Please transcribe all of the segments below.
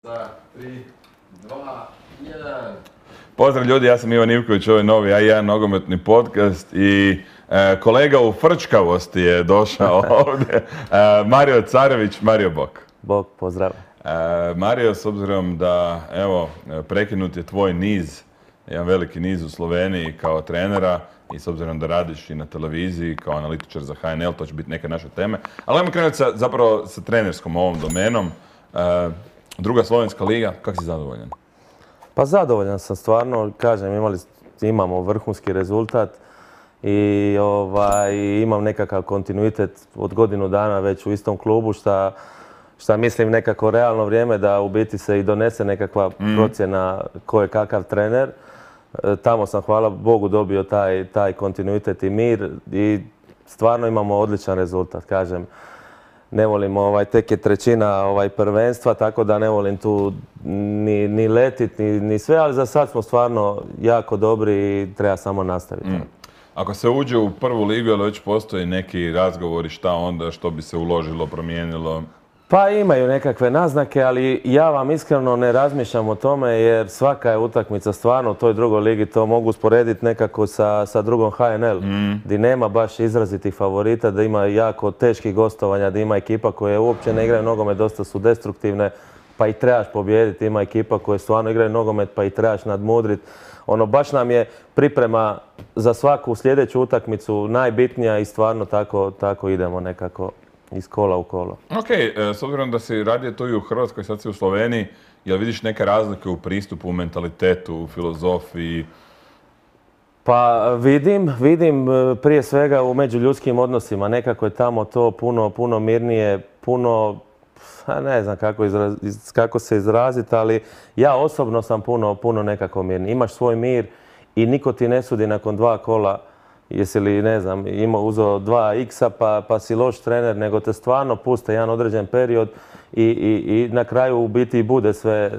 Za 3, 2, 1. Pozdrav ljudi, ja sam Ivan Ivković, ovo je novi A1 nogometni podcast i kolega u frčkavosti je došao ovdje. Mario Carević, Mario Bok. Bog, pozdrav. Mario, s obzirom da, evo, prekinut je tvoj niz, jedan veliki niz u Sloveniji kao trenera i s obzirom da radiš i na televiziji kao analitičar za HNL, to će biti neke naše teme. Ali ajmo krenuti zapravo sa trenerskom ovom domenom. Druga slovenska liga, kako si zadovoljan? Pa zadovoljan sam stvarno, kažem, imamo vrhunski rezultat i imam nekakav kontinuitet od godinu dana već u istom klubu, šta mislim nekako realno vrijeme da u biti se i donese nekakva procjena ko je kakav trener. Tamo sam, hvala Bogu, dobio taj kontinuitet i mir i stvarno imamo odličan rezultat, kažem. Ne volim, tek je trećina prvenstva, tako da ne volim tu ni letit, ni sve, ali za sad smo stvarno jako dobri i treba samo nastaviti. Ako se uđe u prvu ligu, ali već postoji neki razgovori šta onda, što bi se uložilo, promijenilo? Pa imaju nekakve naznake, ali ja vam iskreno ne razmišljam o tome jer svaka je utakmica stvarno u toj drugoj ligi, to mogu usporediti nekako sa drugom HNL, gdje nema baš izrazitih favorita, da ima jako teških gostovanja, da ima ekipa koje uopće ne igraju nogomet, dosta su destruktivne, pa i trebaš pobijediti, ima ekipa koje stvarno igraju nogomet, pa i trebaš nadmudriti. Baš nam je priprema za svaku sljedeću utakmicu najbitnija i stvarno tako idemo nekako iz kola u kolo. Ok, s obzirom da si radio to i u Hrvatskoj, sad si u Sloveniji, jel vidiš neke razlike u pristupu, u mentalitetu, u filozofiji? Pa vidim prije svega u međuljudskim odnosima. Nekako je tamo to puno mirnije, puno, ne znam kako se izraziti, ali ja osobno sam puno nekako mirniji. Imaš svoj mir i niko ti ne sudi nakon 2 kola jesi li, ne znam, uzeo 2 x-a pa si loš trener, nego te stvarno puste jedan određen period i na kraju u biti bude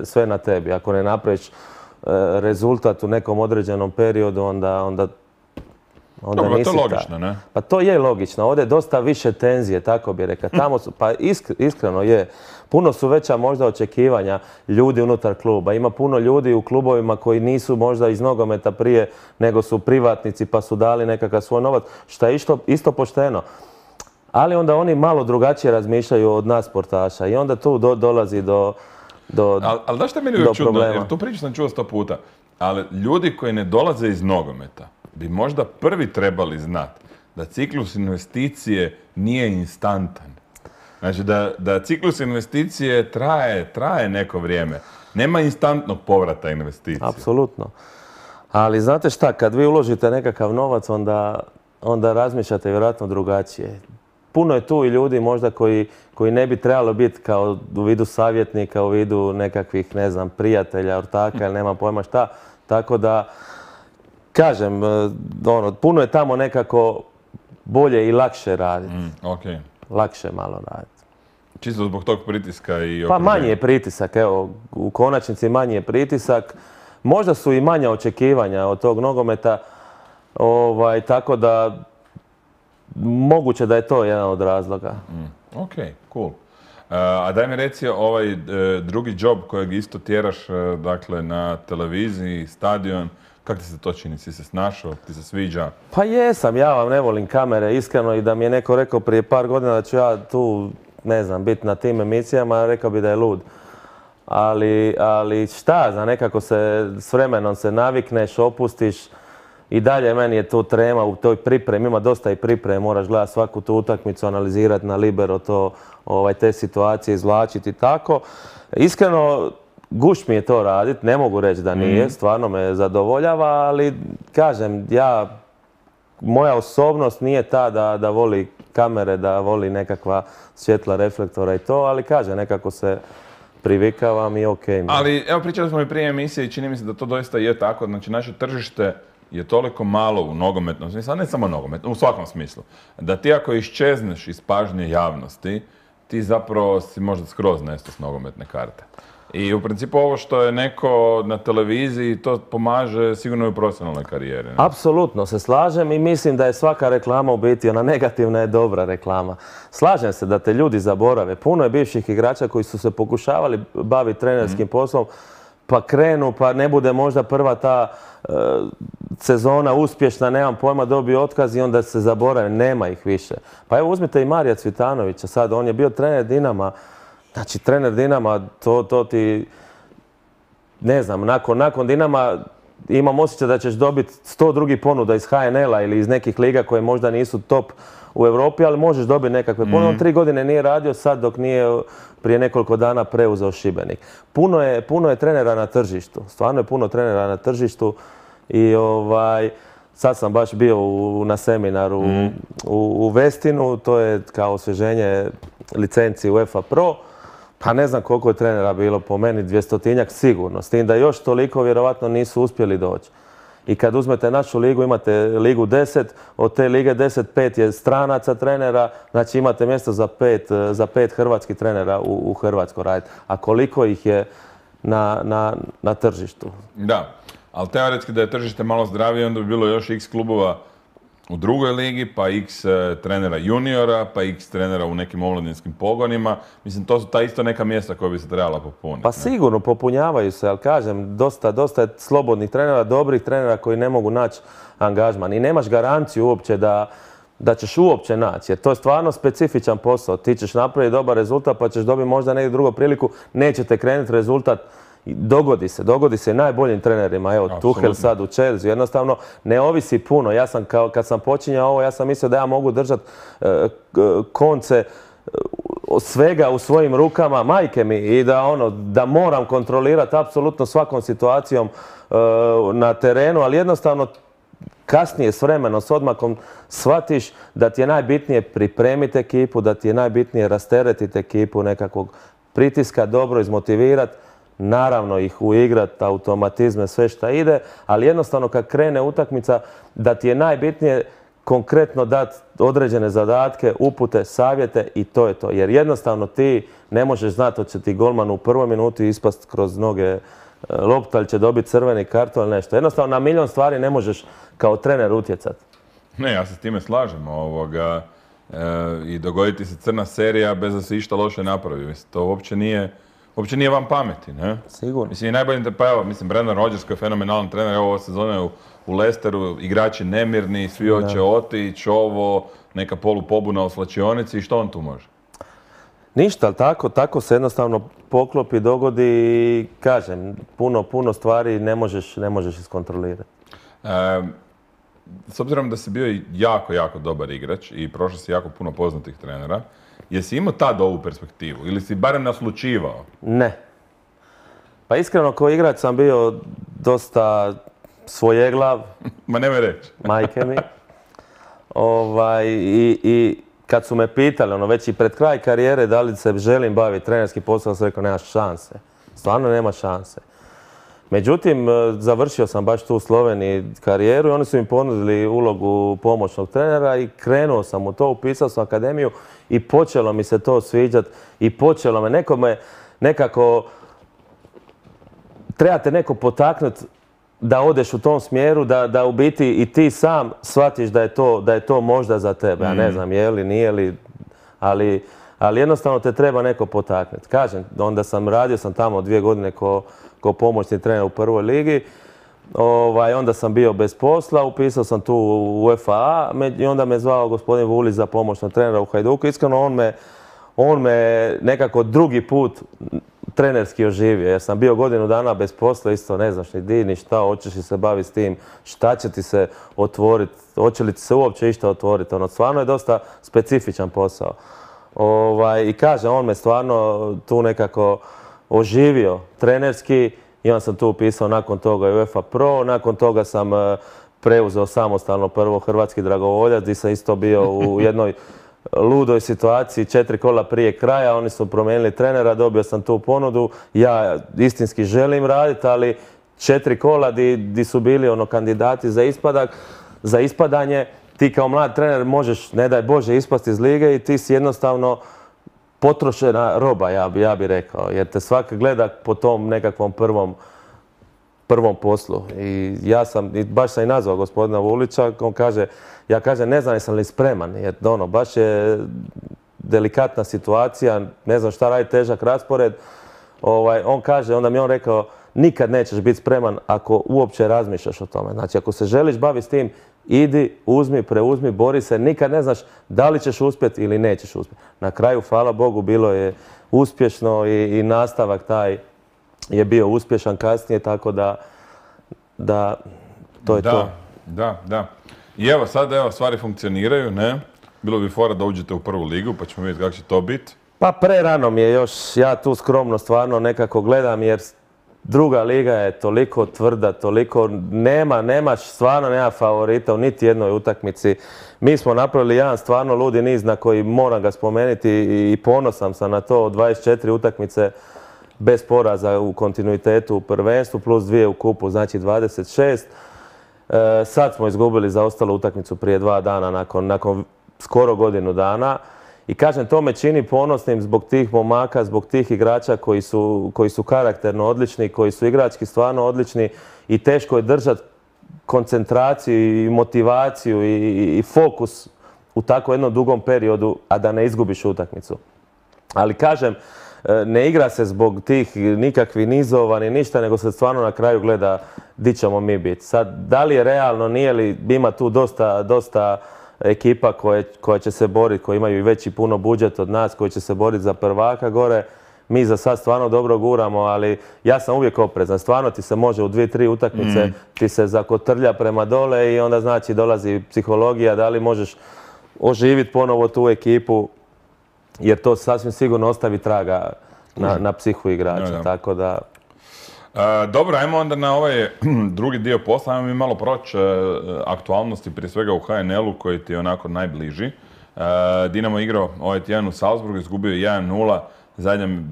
sve na tebi. Ako ne napraviš rezultat u nekom određenom periodu, onda dobro, nisi to je logično, ne? Pa to je logično. Ovdje je dosta više tenzije, tako bi rekao. Tamo su, pa iskreno je. Puno su veća možda očekivanja ljudi unutar kluba. Ima puno ljudi u klubovima koji nisu možda iz nogometa prije, nego su privatnici pa su dali nekakav svoj novac, što je isto pošteno. Ali onda oni malo drugačije razmišljaju od nas sportaša i onda tu dolazi do Ali da što je meni uvijek čudno, jer tu priču sam čuo 100 puta, ali ljudi koji ne dolaze iz nogometa bi možda prvi trebali znati da ciklus investicije nije instantan. Znači da ciklus investicije traje neko vrijeme. Nema instantnog povrata investicije. Apsolutno. Ali znate šta, kad vi uložite nekakav novac, onda razmišljate vjerojatno drugačije. Puno je tu i ljudi možda koji ne bi trebalo biti kao u vidu savjetnika, u vidu nekakvih, ne znam, prijatelja, ortaka ili nema pojma šta. Tako da, kažem, puno je tamo nekako bolje i lakše raditi. Okay. Lakše malo raditi. Čisto zbog tog pritiska i okruženja? Pa manji je pritisak, evo, u konačnici manji je pritisak. Možda su i manja očekivanja od tog nogometa, tako da moguće da je to jedan od razloga. Ok, cool. A daj mi reci ovaj drugi job kojeg isto tjeraš, dakle, na televiziji, stadion, kako ti se to čini? Si se snašao? Ti se sviđa? Pa jesam, ja vam ne volim kamere, iskreno, i da mi je neko rekao prije par godina da ću ja tu, ne znam, biti na tim emisijama, rekao bi da je lud. Ali šta, za nekako se s vremenom se navikneš, opustiš i dalje meni je tu trema u toj pripremi, ima dosta i pripreme, moraš gledati svaku tu utakmicu, analizirati na libero to, te situacije, izvlačiti i tako. Iskreno, gušt mi je to raditi, ne mogu reći da nije, stvarno me zadovoljava, ali kažem, moja osobnost nije ta da voli kamere, da voli nekakva svjetla reflektora i to, ali kažem, nekako se privikavam i okej. Ali evo, pričali smo i prije emisije i čini mi se da to doista je tako. Znači, naše tržište je toliko malo u nogometnom smislu, a ne samo nogometnom, u svakom smislu, da ti ako iščezneš iz pažnje javnosti, ti zapravo si možda skroz nesto s nogometne karte. I u principu ovo što je neko na televiziji, to pomaže sigurno i u profesionalnoj karijeri. Ne? Apsolutno se slažem i mislim da je svaka reklama u biti, ona negativna je dobra reklama. Slažem se da te ljudi zaborave. Puno je bivših igrača koji su se pokušavali baviti trenerskim poslom, pa krenu, pa ne bude možda prva ta sezona uspješna, nemam pojma, dobio otkaz i onda se zaborave, nema ih više. Pa evo uzmite i Marija Cvitanovića sad, on je bio trener Dinama. Znači, trener Dinama, to ti, ne znam, nakon Dinama imam osjećaj da ćeš dobiti 100 drugih ponuda iz HNL-a ili iz nekih liga koje možda nisu top u Europi, ali možeš dobiti nekakve ponude. On 3 godine nije radio sad dok nije prije nekoliko dana preuzeo Šibenik. Puno je trenera na tržištu, stvarno je puno trenera na tržištu i sad sam baš bio na seminaru u Westinu, to je kao osvježenje licenci UEFA Pro. Pa ne znam koliko je trenera bilo, po meni 200-tinjak sigurno, s tim da još toliko vjerovatno nisu uspjeli doći. I kad uzmete našu ligu, imate ligu 10, od te lige 10, 5 je stranaca trenera, znači imate mjesto za 5 hrvatskih trenera u Hrvatskoj raditi. A koliko ih je na tržištu? Da, ali teoretski da je tržište malo zdravije, onda bi bilo još x klubova u drugoj ligi, pa x trenera juniora, pa x trenera u nekim omladinskim pogonima. Mislim, to su ta isto neka mjesta koja bi se trebala popuniti. Pa sigurno, popunjavaju se, ali kažem, dosta je slobodnih trenera, dobrih trenera koji ne mogu naći angažman. I nemaš garanciju uopće da ćeš uopće naći, jer to je stvarno specifičan posao. Ti ćeš napraviti dobar rezultat, pa ćeš dobiti možda neku drugu priliku, nećete krenuti rezultat. Dogodi se i najboljim trenerima. Evo, Tuchel sad u Chelsea. Jednostavno, ne ovisi puno. Ja sam, kad sam počinjao ovo, ja sam mislio da ja mogu držati konce svega u svojim rukama, majke mi, i da moram kontrolirati apsolutno svakom situacijom na terenu, ali jednostavno kasnije s vremenom, s odmakom shvatiš da ti je najbitnije pripremiti ekipu, da ti je najbitnije rasteretiti ekipu, nekakvog pritiska, dobro izmotivirati, naravno ih uigrati, automatizme, sve šta ide, ali jednostavno kad krene utakmica da ti je najbitnije konkretno dati određene zadatke, upute, savjete i to je to. Jer jednostavno ti ne možeš znati hoće ti golman u prvoj minuti ispast kroz noge lopta ili će dobiti crveni karton ili nešto. Jednostavno na milion stvari ne možeš kao trener utjecati. Ne, ja se s time slažem. I dogoditi se crna serija bez da se išta loše napravi. Mislim, to uopće nije vam pameti, ne? Sigurno. Mislim, i najbolji, pa evo, Brendan Rodgers koji je fenomenalan trener, evo ova sezona je u Leicesteru, igrači nemirni, svi hoće otići, neka polupobuna u slačionici i što on tu može? Ništa, ali tako se jednostavno poklopi, dogodi i kažem, puno stvari ne možeš iskontrolirati. S obzirom da si bio jako dobar igrač i prošao si jako puno poznatih trenera, jesi imao tad ovu perspektivu ili si barem naslučivao? Ne. Pa iskreno, kao igrač sam bio dosta svojeglav. Ma nemoj reći. Majke mi. I kad su me pitali, već i pred kraj karijere, da li se želim baviti trenerskim poslom, sam rekao, nemaš šanse. Stvarno nema šanse. Međutim, završio sam baš tu u Sloveniji karijeru i oni su mi ponudili ulogu pomoćnog trenera i krenuo sam u to, upisao sam akademiju i počelo mi se to sviđati i počelo me, nekako trebate neko potaknuti da odeš u tom smjeru, da u biti i ti sam shvatiš da je to možda za tebe. Ja ne znam je li, nije li, ali jednostavno te treba neko potaknuti. Kažem, onda radio sam tamo 2 godine kao pomoćni trener u prvoj ligi. Onda sam bio bez posla, upisao sam tu u UEFA i onda me zvao gospodin Vulić za pomoćnog trenera u Hajduku. Iskreno, on me nekako drugi put trenerski oživio, jer sam bio godinu dana bez posla, isto ne znaš ni di, ni šta, hoćeš li se baviti s tim, šta će ti se otvoriti, hoće li ti se uopće išta otvoriti. Stvarno je dosta specifičan posao. I kažem, on me stvarno tu nekako oživio trenerski i onda sam tu upisao nakon toga i UEFA Pro, nakon toga sam preuzeo samostalno prvo Hrvatski dragovoljac gdje sam isto bio u jednoj ludoj situaciji 4 kola prije kraja, oni su promijenili trenera, dobio sam tu ponudu, ja istinski želim raditi, ali 4 kola di su bili kandidati za ispadanje, ti kao mlad trener možeš, ne daj Bože, ispasti iz lige i ti si jednostavno potrošena roba, ja bi rekao. Jer te svaki gleda po tom nekakvom prvom poslu. I baš sam i nazvao gospodina Vulića, on kaže, ja kažem, ne znam jesam li spreman, jer baš je delikatna situacija, ne znam šta radi, težak raspored. On kaže, onda mi on rekao, nikad nećeš biti spreman ako uopće razmišljaš o tome. Znači, ako se želiš baviti s tim, idi, uzmi, preuzmi, bori se, nikad ne znaš da li ćeš uspjeti ili nećeš uspjeti. Na kraju, hvala Bogu, bilo je uspješno i nastavak taj je bio uspješan kasnije, tako da to je to. Da. I evo sad, stvari funkcioniraju, ne? Bilo bi fora da uđete u prvu ligu, pa ćemo vidjeti kako će to biti. Pa prerano mi je još, ja tu skromno stvarno nekako gledam, jer druga liga je toliko tvrda, toliko stvarno nema favorita u niti jednoj utakmici. Mi smo napravili jedan stvarno ludi niz na koji moram ga spomenuti i ponosan sam na to, 24 utakmice bez poraza u kontinuitetu u prvenstvu, plus 2 u kupu, znači 26. Sad smo izgubili zaostalu utakmicu prije 2 dana nakon skoro godinu dana. I kažem, to me čini ponosnim zbog tih momaka, zbog tih igrača koji su karakterno odlični, koji su igrački stvarno odlični i teško je držati koncentraciju i motivaciju i fokus u tako jednom dugom periodu, a da ne izgubiš utakmicu. Ali kažem, ne igra se zbog tih nikakvih nizova ni ništa, nego se stvarno na kraju gleda di ćemo mi biti. Sad, da li je realno, nije li, ima tu dosta ekipa koja će se boriti, koji imaju i veći puno budžet od nas, koji će se boriti za prvaka gore. Mi za sad stvarno dobro guramo, ali ja sam uvijek oprezan. Stvarno ti se može u 2-3 utakmice ti se zakotrlja prema dole i onda znači dolazi psihologija, da li možeš oživiti ponovo tu ekipu, jer to sasvim sigurno ostavi traga na psihu igrača. Tako da... Dobro, ajmo onda na ovaj drugi dio posla. Ajmo mi malo proći aktualnosti, prije svega u HNL-u koji ti je onako najbliži. Dinamo igrao ovaj tjedan u Salzburgu, izgubio 1-0,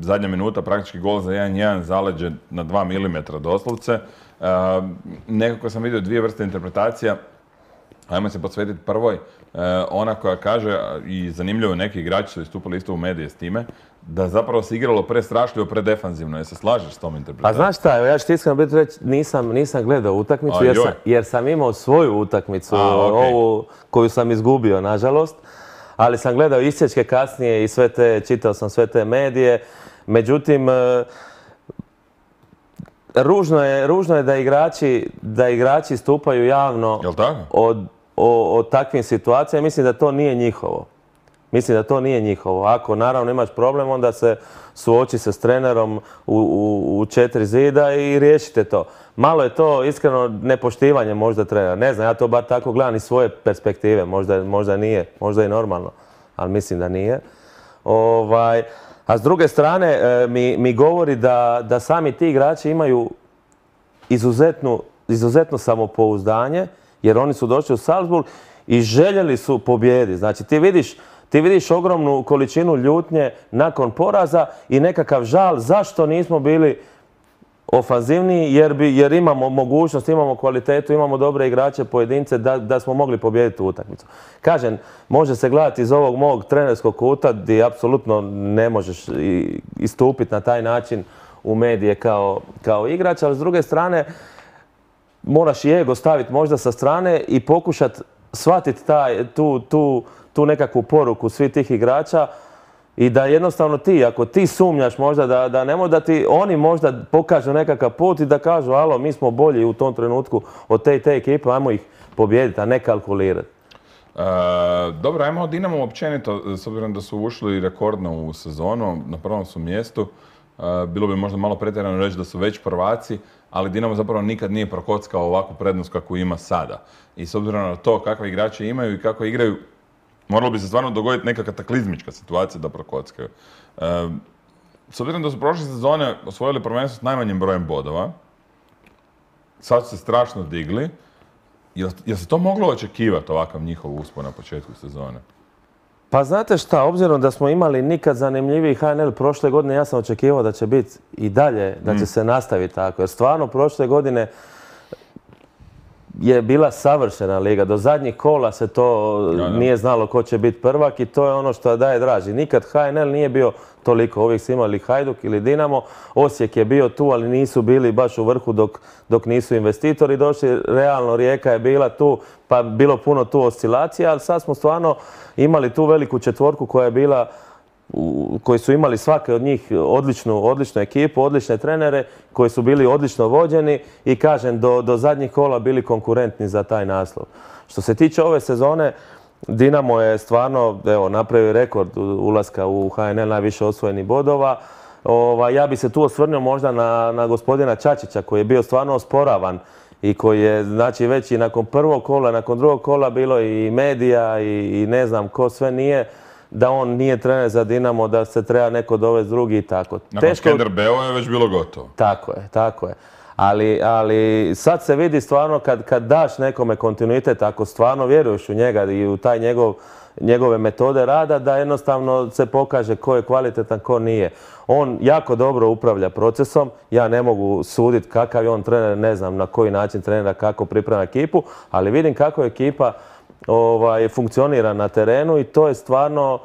zadnja minuta, praktički gol za 1-1, zaleđe na 2 mm doslovce. Nekako sam vidio dvije vrste interpretacija. Ajmo se posvetiti prvoj. Ona koja kaže, i zanimljivo neki igrači su istupili isto u medije s time, da zapravo se igralo prestrašljivo, predefanzivno. Jel se slažeš s tom interpretacijom? Pa znaš šta, ja ću ti iskreno biti reći, nisam gledao utakmicu jer sam imao svoju utakmicu, ovu koju sam izgubio, nažalost. Ali sam gledao isječke kasnije i čitao sam sve te medije. Međutim, ružno je da igrači stupaju javno o takvim situacijama. Mislim da to nije njihovo. Ako naravno imaš problem, onda se suoči se s trenerom u 4 zida i riješite to. Malo je to iskreno nepoštivanje možda trenera. Ne znam, ja to bar tako gledam iz svoje perspektive. Možda nije, možda i normalno, ali mislim da nije. A s druge strane mi govori da sami ti igrači imaju izuzetno samopouzdanje, jer oni su došli u Salzburg i željeli su pobijediti. Znači ti vidiš ogromnu količinu ljutnje nakon poraza i nekakav žal zašto nismo bili ofanzivniji, jer imamo mogućnost, imamo kvalitetu, imamo dobre igrače, pojedince da smo mogli pobijediti u utakmicu. Kažem, može se gledati iz ovog mog trenerskog kuta gdje apsolutno ne možeš istupiti na taj način u medije kao igrač, ali s druge strane moraš i ego staviti možda sa strane i pokušati shvatiti tu nekakvu poruku svih tih igrača i da jednostavno ako ti sumnjaš možda da ne da ti oni možda pokažu nekakav put i da kažu alo, mi smo bolji u tom trenutku od te ekipe, ajmo ih pobijediti, a ne kalkulirati. Dobro, ajmo o Dinamo općenito, s obzirom da su ušli rekordno u sezonu, na prvom su mjestu. Bilo bi možda malo pretjerano reći da su već prvaci, ali Dinamo zapravo nikad nije prokockao ovakvu prednost kakvu ima sada. I s obzirom na to kakve igrače imaju i kako igraju, moralo bi se stvarno dogoditi neka kataklizmička situacija da prokockaju. S obzirom da su prošle sezone osvojili prvenstvo s najmanjim brojem bodova, sad su se strašno digli. Jel se to moglo očekivati, ovakav njihov uspon na početku sezone? Pa znate šta, obzirom da smo imali nikad zanimljiviji HNL prošle godine, ja sam očekivao da će biti i dalje, da će se nastaviti tako. Jer stvarno prošle godine je bila savršena liga. Do zadnjih kola se to nije znalo ko će biti prvak i to je ono što daje draži. Nikad HNL nije bio toliko. Uvijek su imali Hajduk ili Dinamo. Osijek je bio tu, ali nisu bili baš u vrhu dok nisu investitori došli. Realno Rijeka je bila tu, pa bilo puno tu oscilacija, ali sad smo stvarno imali tu veliku četvorku koja je bila, koji su imali svake od njih odličnu ekipu, odlične trenere, koji su bili odlično vođeni i kažem, do zadnjih kola bili konkurentni za taj naslov. Što se tiče ove sezone, Dinamo je stvarno napravio rekord ulaska u HNL, najviše osvojenih bodova. Ja bi se tu osvrnuo možda na gospodina Čačića koji je bio stvarno osporavan i koji je, znači, već i nakon prvog kola, nakon drugog kola bilo i medija i ne znam ko sve nije, da on nije trener za Dinamo, da se treba neko dovesti drugi i tako. Nakon Skenderbeu je već bilo gotovo. Tako je. Ali sad se vidi stvarno kad daš nekome kontinuitet, ako stvarno vjeruješ u njega i u taj njegove metode rada, da jednostavno se pokaže ko je kvalitetan, ko nije. On jako dobro upravlja procesom, ja ne mogu suditi kakav je on trener, ne znam na koji način trenera, kako priprema ekipu, ali vidim kako ekipa funkcionira na terenu i to je stvarno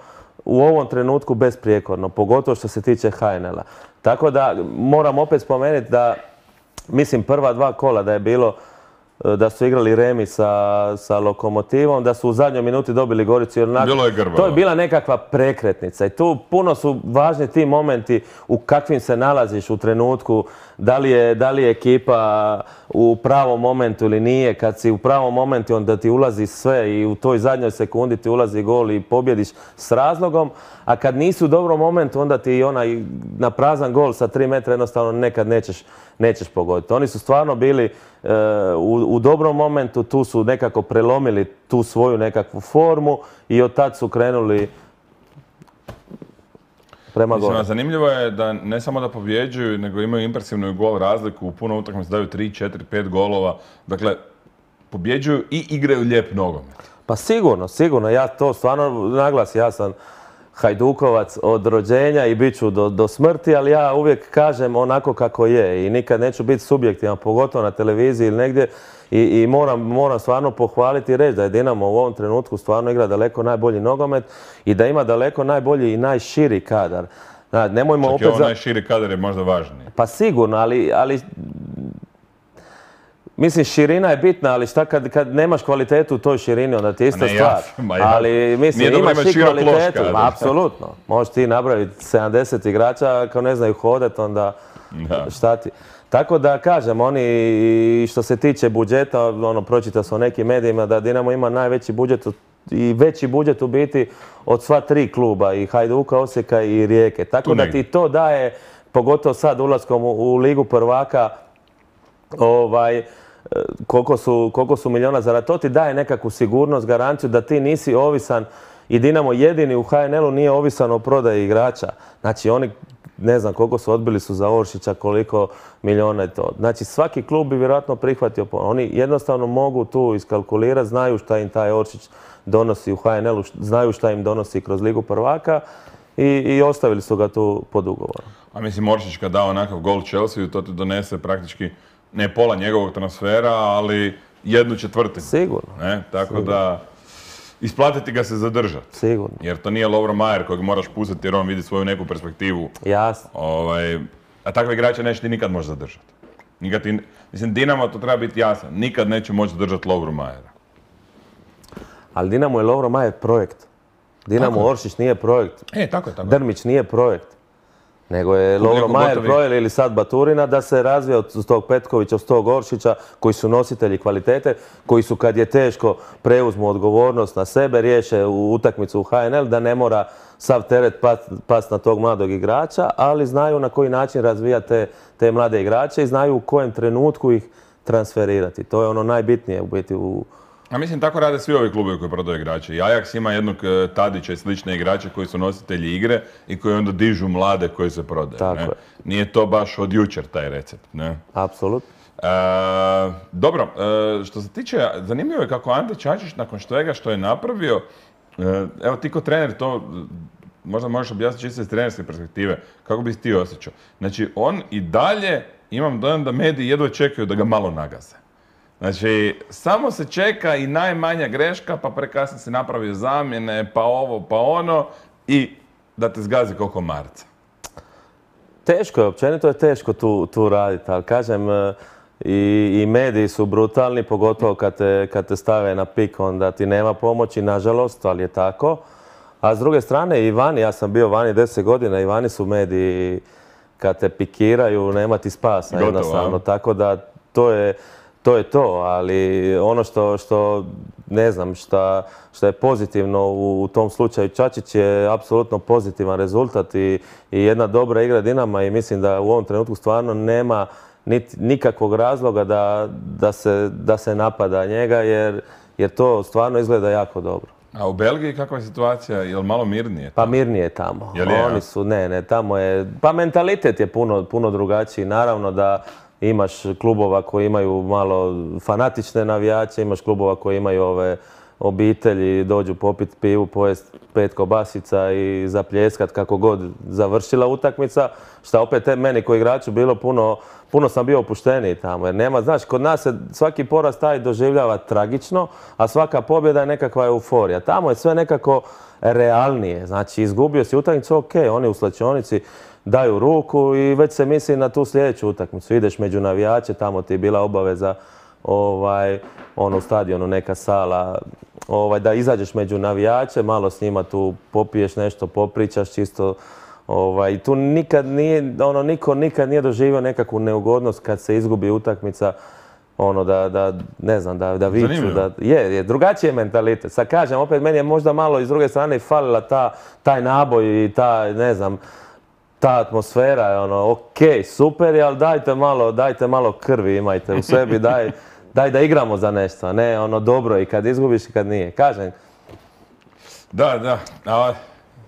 u ovom trenutku besprijekorno, pogotovo što se tiče HNL-a. Tako da moram opet spomenuti da, mislim, prva dva kola da je bilo, da su igrali remi sa Lokomotivom, da su u zadnjoj minuti dobili Goricu. Bilo je grbavo. To je bila nekakva prekretnica i tu puno su važni ti momenti u kakvim se nalaziš u trenutku, da li je ekipa u pravom momentu ili nije. Kad si u pravom momentu, onda ti ulazi sve i u toj zadnjoj sekundi ti ulazi gol i pobjediš s razlogom, a kad nisi u dobrom momentu, onda ti onaj na prazan gol sa 3 metra jednostavno nekad nećeš pogoditi. Oni su stvarno bili u dobrom momentu, tu su nekako prelomili tu svoju nekakvu formu i od tad su krenuli prema gore. Zanimljivo je da ne samo da pobjeđuju, nego imaju impresivnu gol razliku, u puno utakmica daju 3, 4, 5 golova. Dakle, pobjeđuju i igraju lijep nogomet. Pa sigurno. Ja to stvarno naglasim. Ja sam Hajdukovac od rođenja i bit ću do smrti, ali ja uvijek kažem onako kako je i nikad neću biti subjektivan, pogotovo na televiziji ili negdje. I moram stvarno pohvaliti i reći da je Dinamo u ovom trenutku stvarno igra daleko najbolji nogomet i da ima daleko najbolji i najširi kadar. Nemojmo opet ovo najširi kadar je možda važniji. Pa sigurno, ali mislim, širina je bitna, ali šta kad nemaš kvalitetu u toj širini, onda ti je ista stvar. Ali mislim, imaš i kvalitetu, apsolutno. Možeš ti napraviti 70 igrača, ako ne znaju hodati, onda šta ti... Tako da kažem, oni što se tiče budžeta, pročitao sam o nekim medijima da Dinamo ima najveći budžet i veći budžet u biti od sva 3 kluba, i Hajduka, Osijeka i Rijeke. Tako da ti to daje, pogotovo sad ulaskom u Ligu prvaka, koliko su miliona zaradi, to ti daje nekakvu sigurnost, garanciju da ti nisi ovisan i Dinamo jedini u HNL-u nije ovisan o prodaji igrača. Znači oni, ne znam koliko su odbili su za Oršića, koliko miliona je to. Znači svaki klub bi vjerojatno prihvatio. Oni jednostavno mogu tu iskalkulirati, znaju šta im taj Oršić donosi u HNL-u, znaju šta im donosi kroz Ligu prvaka i ostavili su ga tu pod ugovorom. A mislim, Oršić kad da onakav gol Chelsea, to ti donese praktički ne pola njegovog transfera, ali 1/4. Sigurno. Tako da isplatiti ga se zadržati. Sigurno. Jer to nije Lovro Majer kojeg moraš pustiti jer on vidi svoju neku perspektivu. Jasno. A takve igrače neće ti nikad moći zadržati. Mislim, Dinamo, to treba biti jasno, nikad neće moći zadržati Lovro Majera. Ali Dinamo je Lovro Majer projekt. Dinamo Oršić nije projekt. Tako je. Drmić nije projekt. Nego je Lovro Majer projekt ili sad Baturina da se razvija od tog Petkovića, od tog Oršića, koji su nositelji kvalitete, koji su kad je teško preuzmu odgovornost na sebe, riješe utakmicu u HNL, da ne mora sav teret past na tog mladog igrača, ali znaju na koji način razvijati te mlade igrače i znaju u kojem trenutku ih transferirati. To je ono najbitnije u biti A mislim, tako rade svi ovi klubovi koji prodaju igrače. I Ajax ima jednog Tadića i slične igrače koji su nositelji igre i koji onda dižu mlade koji se prodaju. Nije to baš od jučer taj recept. Apsolutno. Dobro, što se tiče, zanimljivo je kako Ante Čačić nakon svega što je napravio, evo ti ko trener to možda možeš objasniti čisto iz trenerske perspektive, kako bi ti osjećao. Znači, on i dalje, imam dojam da mediji jedva čekaju da ga malo nagaze. Znači, samo se čeka i najmanja greška, pa prekasno si napravio zamjene, pa ovo, pa ono i da te zgazi kao komarca. Teško je, općenito je teško tu raditi, ali kažem, i mediji su brutalni, pogotovo kad te stave na pik, onda ti nema pomoći, nažalost, ali je tako. A s druge strane, i vani, ja sam bio vani 10 godina, i vani su mediji, kad te pikiraju, nema ti spasa jednostavno. Tako da to je to, ali ono što ne znam, što je pozitivno u tom slučaju Čačić je apsolutno pozitivan rezultat i jedna dobra igra Dinama i mislim da u ovom trenutku stvarno nema nikakvog razloga da se napada njega jer to stvarno izgleda jako dobro. A u Belgiji kakva je situacija? Je li malo mirnije? Pa mirnije je tamo. Je li je? Oni su, ne, tamo je, pa mentalitet je puno drugačiji. Naravno da imaš klubova koji imaju malo fanatične navijače, imaš klubova koji imaju ove obitelji, dođu popit pivu, pojest 5 kobasica i zapljeskat kako god završila utakmica, što opet meni koji igraču bilo puno sam bio opušteniji tamo, jer nema, znaš, kod nas se svaki poraz taj doživljava tragično, a svaka pobjeda je nekakva euforija. Tamo je sve nekako realnije, znači izgubio si utakmicu, ok, oni u slačionici daju ruku i već se misli na tu sljedeću utakmicu. Ideš među navijače, tamo ti je bila obaveza u stadionu neka sala, da izađeš među navijače, malo s njima tu popiješ nešto, popričaš čisto. I tu nikad nije, niko nikad nije doživio nekakvu neugodnost kad se izgubi utakmica, ne znam, da viču. Je, drugačiji je mentalitet. Sad kažem, opet meni je možda malo iz druge strane falila taj naboj i ne znam, ta atmosfera je ok, super je, ali dajte malo krvi imajte u sebi, daj da igramo za nešto, ne dobro i kad izgubiš i kad nije. Kažem. Da,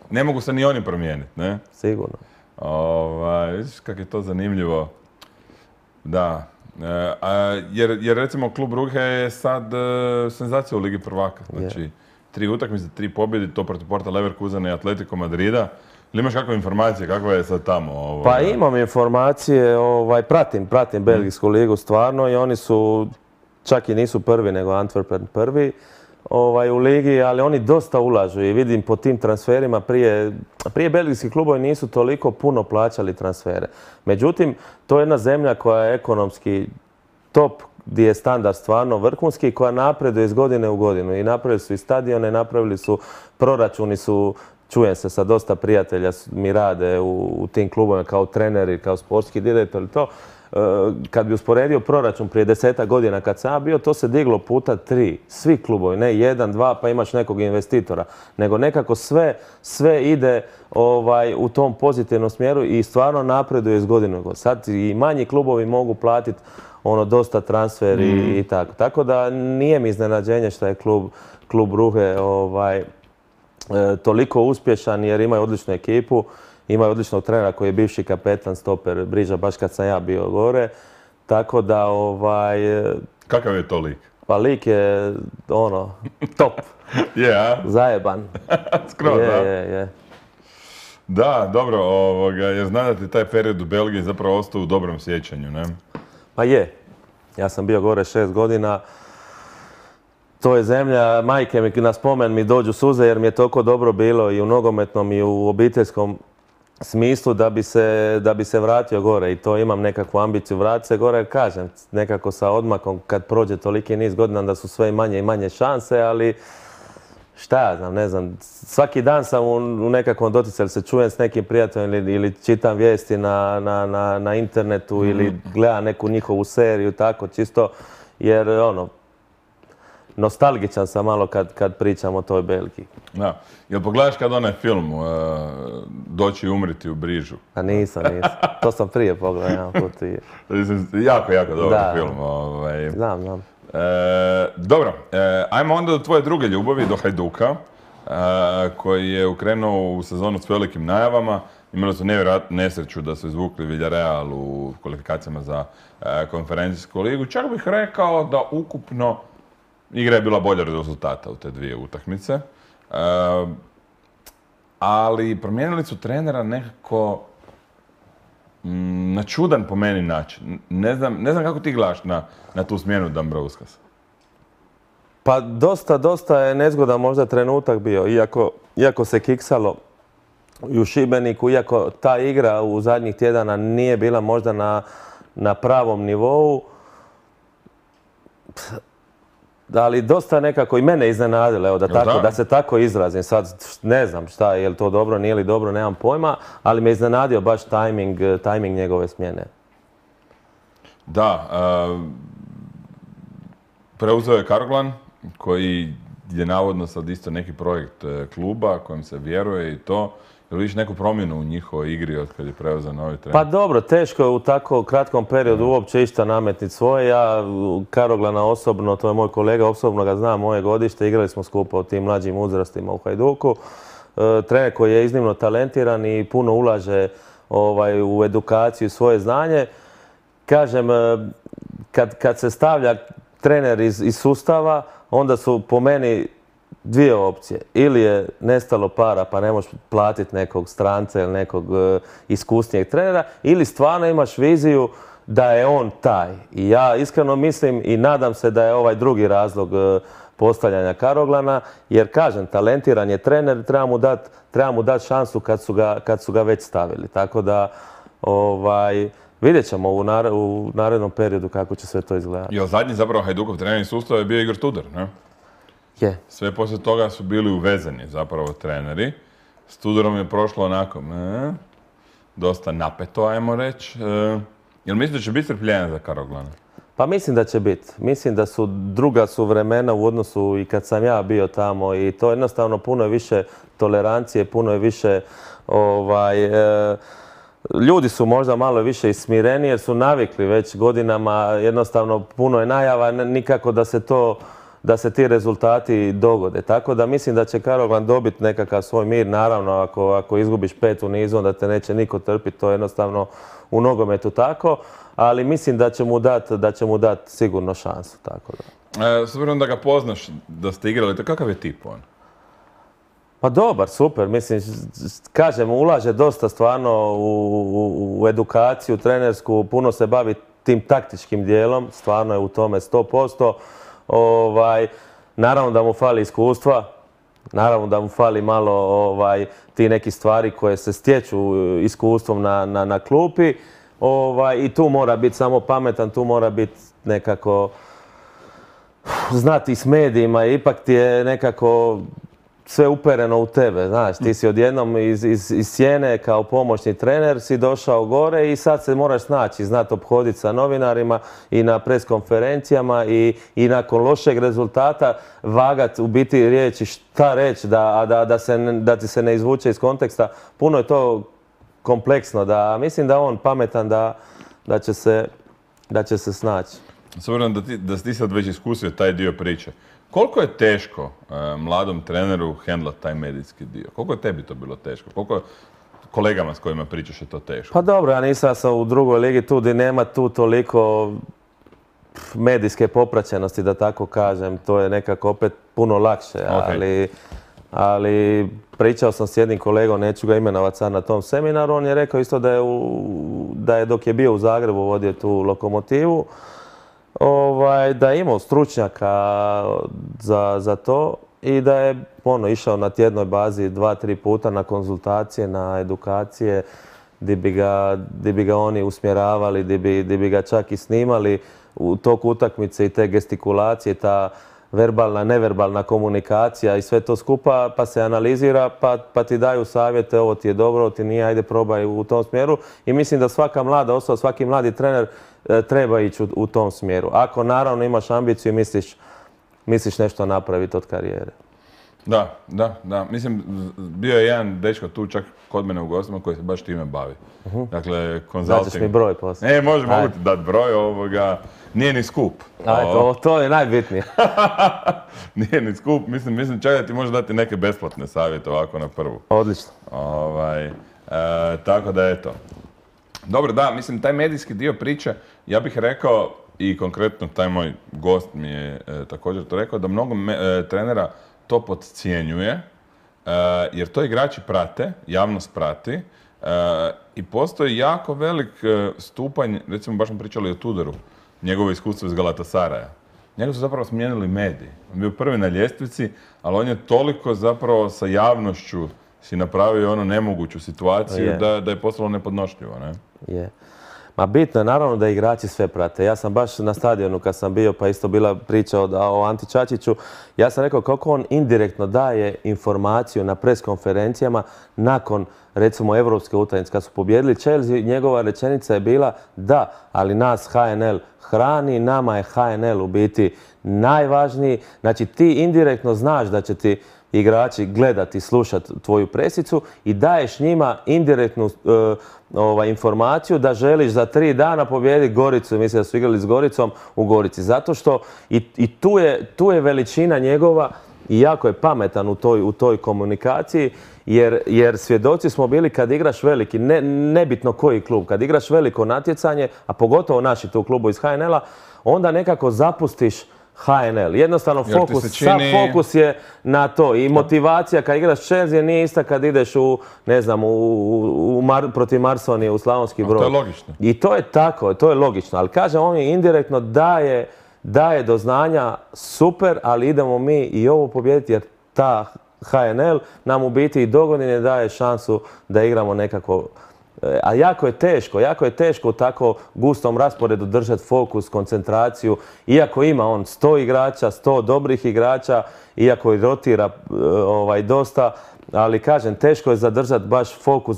ne mogu se ni oni promijeniti, ne? Sigurno. Vidiš kako je to zanimljivo. Da. Jer recimo klub Brugge je sad senzacija u Ligi prvaka. Znači, 3 utakmice, 3 pobjede, to protiv Porta Leverkusena i Atletico Madrida. Ili imaš kakve informacije, kakva je sad tamo? Pa imam informacije, pratim Belgijsku ligu stvarno i oni su, čak i nisu prvi, nego Antwerpen prvi u ligi, ali oni dosta ulažu i vidim po tim transferima prije belgijski klubovi nisu toliko puno plaćali transfere. Međutim, to je jedna zemlja koja je ekonomski top, gdje je standard stvarno vrhunski, koja napreduje iz godine u godinu. I napravili su i stadione, napravili su, proračuni su, čujem se sa dosta prijatelja mi rade u tim klubovima kao treneri, kao sportski direktor i to. Kad bi usporedio proračun prije 10 godina kad sam ja bio, to se diglo puta 3. Svi klubovi, ne 1, 2 pa imaš nekog investitora, nego nekako sve ide u tom pozitivnom smjeru i stvarno napreduje iz godine u godinu. Sad i manji klubovi mogu platiti dosta transfer i tako. Tako da nije mi iznenađenje što je klub Brugge toliko uspješan jer imaju odličnu ekipu. Imaju odličnog trenera koji je bivši kapetan, stoper Briža, baš kad sam ja bio gore. Tako da, Kakav je to lik? Pa lik je, top. Zajeban. Skroz, da? Je. Da, dobro, jer znam da ti taj period u Belgiji zapravo ostao u dobrom sjećanju, ne? Pa je. Ja sam bio gore 6 godina. To je zemlja, majke mi na spomen mi dođu suze jer mi je toliko dobro bilo i u nogometnom i u obiteljskom smislu da bi se vratio gore i to imam nekakvu ambiciju vratiti se gore, kažem, nekako sa odmakom kad prođe toliki niz godina da su sve manje i manje šanse, ali šta ja znam, ne znam, svaki dan sam u nekakvom doticaju, se čujem s nekim prijateljem ili čitam vijesti na internetu ili gledam neku njihovu seriju, tako čisto, jer nostalgičan sam malo kad pričam o toj Belgiji. Da. Jel pogledaš kad onaj film Doći i umriti u Brižu? A nisam. To sam prije pogledao jedan put. Jako dobar film. Znam. Dobro, ajmo onda do tvoje druge ljubavi, do Hajduka, koji je ukrenuo u sezonu s velikim najavama. Imali su nevjerojatnu nesreću da su izvukli Villarreal u kvalifikacijama za konferencijsku ligu. Čak bih rekao da ukupno igra je bila bolja od rezultata u te 2 utakmice. Ali promijenili su trenera nekako na čudan po meni način. Ne znam kako ti gledaš na tu smjenu Dambrauskas. Pa dosta je nezgodan možda trenutak bio, iako se kiksalo i u Šibeniku, iako ta igra u zadnjih tjedana nije bila možda na pravom nivou, ali dosta nekako i mene iznenadilo, evo, da se tako izrazim. Sad ne znam šta, je li to dobro, nije li dobro, nemam pojma, ali me iznenadio baš tajming njegove smjene. Da, preuzeo je Karoglan, koji je navodno sad isto neki projekt kluba kojem se vjeruje i to. Jel vidiš neku promjenu u njihovoj igri od kad je preuzeo novi trener? Pa dobro, teško je u tako kratkom periodu uopće išta nametniti svoje. Ja Karoglana osobno, to je moj kolega, osobno ga znam, moje godište, igrali smo skupa u tim mlađim uzrastima u Hajduku. Trener koji je iznimno talentiran i puno ulaže u edukaciju i svoje znanje. Kažem, kad se stavlja trener iz sustava, onda su po meni dvije opcije. Ili je nestalo para pa ne možeš platiti nekog stranca ili nekog iskusnijeg trenera, ili stvarno imaš viziju da je on taj. I ja iskreno mislim i nadam se da je ovaj drugi razlog postavljanja Karoglana, jer kažem, talentiran je trener, treba mu dati šansu kad su ga već stavili. Tako da vidjet ćemo u narednom periodu kako će sve to izgledati. I zadnji zapravo Hajdukov trenerni sustav je bio Igor Tudor, ne? Je. Sve poslije toga su bili uvezeni zapravo treneri. S Tudorom je prošlo onako, dosta napeto, ajmo reći. Jel misliš da će biti strpljenja za Karoglana? Pa mislim da će biti. Mislim da druga su vremena u odnosu i kad sam ja bio tamo i to jednostavno puno je više tolerancije, puno je više ljudi su možda malo više ismireni jer su navikli već godinama, jednostavno puno je najava, nikako da se ti rezultati dogode. Tako da mislim da će Karoglan dobiti nekakav svoj mir. Naravno, ako izgubiš 5 u nizu, onda te neće niko trpiti, to je jednostavno u nogometu tako. Ali mislim da će mu dati sigurno šansu. Tako da. S obzirom da ga poznaš, da ste igrali, to kakav je tip on? Pa dobar, super. Mislim, kažem, ulaže dosta stvarno u edukaciju trenersku, puno se bavi tim taktičkim dijelom, stvarno je u tome 100%. Naravno da mu fali iskustva, naravno da mu fali malo ti neki stvari koje se stječu iskustvom na klupi. I tu mora biti samo pametan, tu mora biti nekako znati s medijima, ipak ti je nekako sve upereno u tebe, znaš, ti si odjednom iz sjene kao pomoćni trener si došao gore i sad se moraš snaći, znati ophoditi sa novinarima i na preskonferencijama i nakon lošeg rezultata vagat u biti riječi šta reći da ti se ne izvuče iz konteksta. Puno je to kompleksno, mislim da on pametan da će se snaći. S obzirom da si ti sad već iskusio taj dio priče, koliko je teško mladom treneru hendlati taj medijski dio? Koliko je tebi to bilo teško? Koliko kolegama s kojima pričaš je to teško? Pa dobro, ja nisam u drugoj ligi tu gdje nema tu toliko medijske popraćenosti, da tako kažem. To je nekako opet puno lakše, ali pričao sam s jednim kolegom, neću ga imenovati sad na tom seminaru, on je rekao isto da je dok je bio u Zagrebu vodio tu Lokomotivu, da je imao stručnjaka za to i da je išao na tjednoj bazi 2-3 puta na konzultacije, na edukacije, gdje bi ga oni usmjeravali, gdje bi ga čak i snimali u toku utakmice i te gestikulacije, ta verbalna, neverbalna komunikacija i sve to skupa, pa se analizira, pa ti daju savjete, ovo ti je dobro, ovo ti nije, ajde probaj u tom smjeru. I mislim da svaka mlada osoba, svaki mladi trener treba ići u tom smjeru. Ako naravno imaš ambiciju i misliš nešto napraviti od karijere. Da. Mislim, bio je jedan dečko tu čak kod mene u gostima koji se baš time bavi. Dakle, consulting. Daćeš mi broj poslije. Mogu ti dati broj, nije ni skup. To je najbitnije. Nije ni skup, mislim čak da ti može dati neke besplatne savjete ovako na prvu. Odlično. Tako da eto. Dobro, da, mislim, taj medijski dio priče, ja bih rekao, i konkretno taj moj gost mi je također to rekao, da mnogo trenera to podcjenjuje, jer to igrači prate, javnost prati, I postoji jako velik stupanj, recimo baš smo pričali o Tudoru, njegovo iskustvo iz Galatasaraja. Njega su zapravo smijenili mediji. On bio prvi na ljestvici, ali on je toliko zapravo sa javnošću si napravio ono nemoguću situaciju da je postalo nepodnošljivo, ne? Je. Ma bitno je naravno da igrači sve prate. Ja sam baš na stadionu kad sam bio, pa isto bila priča o Anti Čačiću, ja sam rekao kako on indirektno daje informaciju na pres konferencijama nakon recimo evropske utakmice. Kad su pobijedili Chelsea, njegova rečenica je bila da, ali nas HNL hrani, nama je HNL u biti najvažniji. Znači ti indirektno znaš da će ti igrači gledati, slušati tvoju presicu i daješ njima indirektnu informaciju da želiš za 3 dana pobijediti Goricu. Mislim da su igrali s Goricom u Gorici. Zato što i tu je veličina njegova i jako je pametan u toj komunikaciji jer svjedoci smo bili kad igraš veliki, nebitno koji klub, kad igraš veliko natjecanje, a pogotovo naši tu klubu iz HNL-a, onda nekako zapustiš HNL. Jednostavno sav fokus je na to i motivacija kad igraš Chelsea nije ista kad ideš protiv Marsonije u Slavonski Brod. To je logično. I to je tako, to je logično. Ali kažem, on je indirektno daje do znanja super, ali idemo mi i ovo pobijediti jer ta HNL nam u biti i dogodine daje šansu da igramo nekako. A jako je teško u tako gustom rasporedu držati fokus, koncentraciju, iako ima on 100 igrača, 100 dobrih igrača, iako i rotira dosta, ali kažem, teško je zadržati baš fokus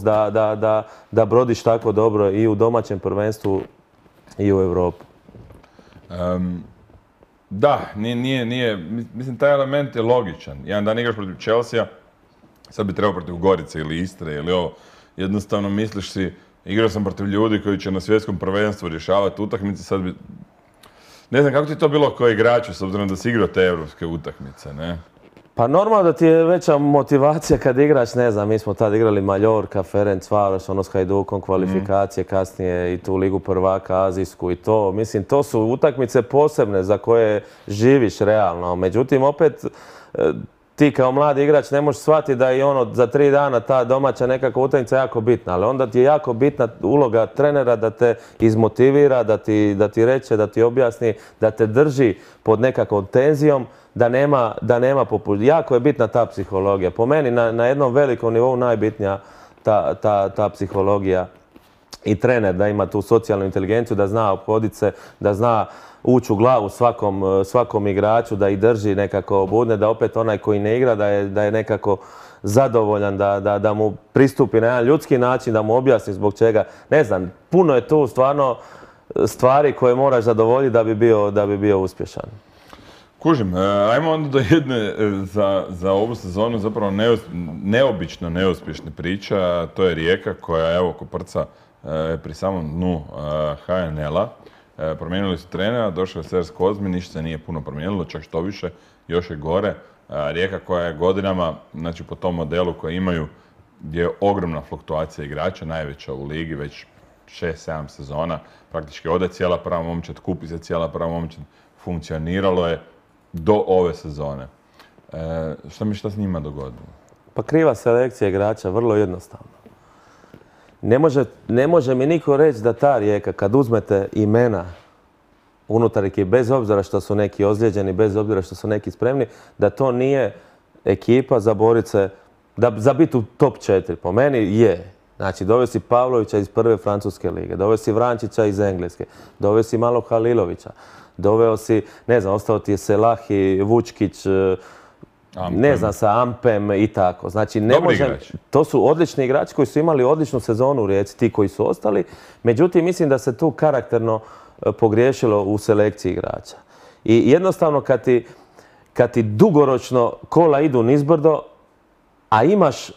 da brodiš tako dobro i u domaćem prvenstvu i u Europi. Da, nije, mislim, taj element je logičan. Jedan dan igraš protiv Chelsea, sad bi trebao protiv Gorice ili Istre ili ovo. Jednostavno misliš si, igrao sam protiv ljudi koji će na svjetskom prvenstvu rješavati utakmice, sad bi... Ne znam kako ti je to bilo kao igraču, s obzirom da si igrao te evropske utakmice, ne? Pa normalno da ti je veća motivacija kad igraš, ne znam, mi smo tad igrali Mallorca, Ferencvaros, s Hajdukom, kvalifikacije, kasnije i tu Ligu prvaka, azijsku i to. Mislim, to su utakmice posebne za koje živiš realno. Međutim, opet, ti kao mladi igrač ne možeš shvatiti da je za 3 dana ta domaća nekakva utakmica jako bitna, ali onda ti je jako bitna uloga trenera da te izmotivira, da ti reče, da ti objasni, da te drži pod nekakvom tenzijom, da nema jako je bitna ta psihologija. Po meni na jednom velikom nivou najbitnija ta psihologija i trener da ima tu socijalnu inteligenciju, da zna ophoditi se, da zna ući u glavu svakom igraču, da ih drži nekako budne, da opet onaj koji ne igra da je nekako zadovoljan, da mu pristupi na jedan ljudski način, da mu objasni zbog čega. Ne znam, puno je tu stvarno stvari koje moraš zadovoljiti da bi bio uspješan. Kužim, ajmo onda do jedne za ovu sezonu zapravo neobično neuspješne priča, to je Rijeka koja evo koprca pri samom dnu HNL-a. Promijenili su trenera, došao je Sers Kozmin, ništa se nije puno promijenilo, čak što više, još je gore. Rijeka koja je godinama, znači po tom modelu koji imaju, gdje je ogromna fluktuacija igrača, najveća u ligi, već 6-7 sezona. Praktički ode cijela prva momčad, kupi se cijela prva momčad, funkcioniralo je do ove sezone. Šta s njima dogodilo? Pa kriva selekcija igrača, vrlo jednostavno. Ne može mi niko reći da ta Rijeka, kad uzmete imena unutar ekipe, bez obzira što su neki ozlijeđeni, bez obzira što su neki spremni, da to nije ekipa za borit se, za biti u top 4. Po meni je. Znači, doveo si Pavlovića iz prve francuske lige, doveo si Vrančića iz engleske, doveo si malo Halilovića, doveo si, ne znam, ostao ti je Selahi, Vučkić, ne znam, sa Ampem i tako. Znači, to su odlični igrači koji su imali odličnu sezonu u Rijeci, ti koji su ostali. Međutim, mislim da se tu karakterno pogriješilo u selekciji igrača. I jednostavno, kad ti dugoročno kola idu nizbrdo, a imaš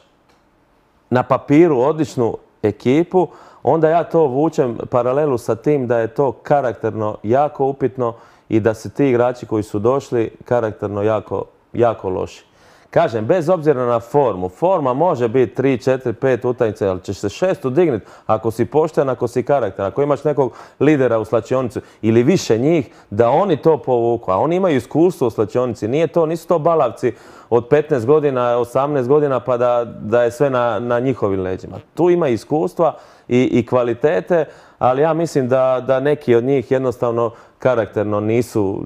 na papiru odličnu ekipu, onda ja to vučem paralelu sa tim da je to karakterno jako upitno i da se ti igrači koji su došli karakterno jako loši. kažem, bez obzira na formu, forma može biti 3, 4, 5 utakmica, ali ćeš se 6 dignuti ako si pošten, ako si karakter, ako imaš nekog lidera u slačionicu ili više njih, da oni to povuku. A oni imaju iskustvo u slačionici, nisu to balavci od 15 godina, 18 godina pa da je sve na njihovim leđima. Tu ima iskustva i kvalitete, ali ja mislim da neki od njih jednostavno karakterno nisu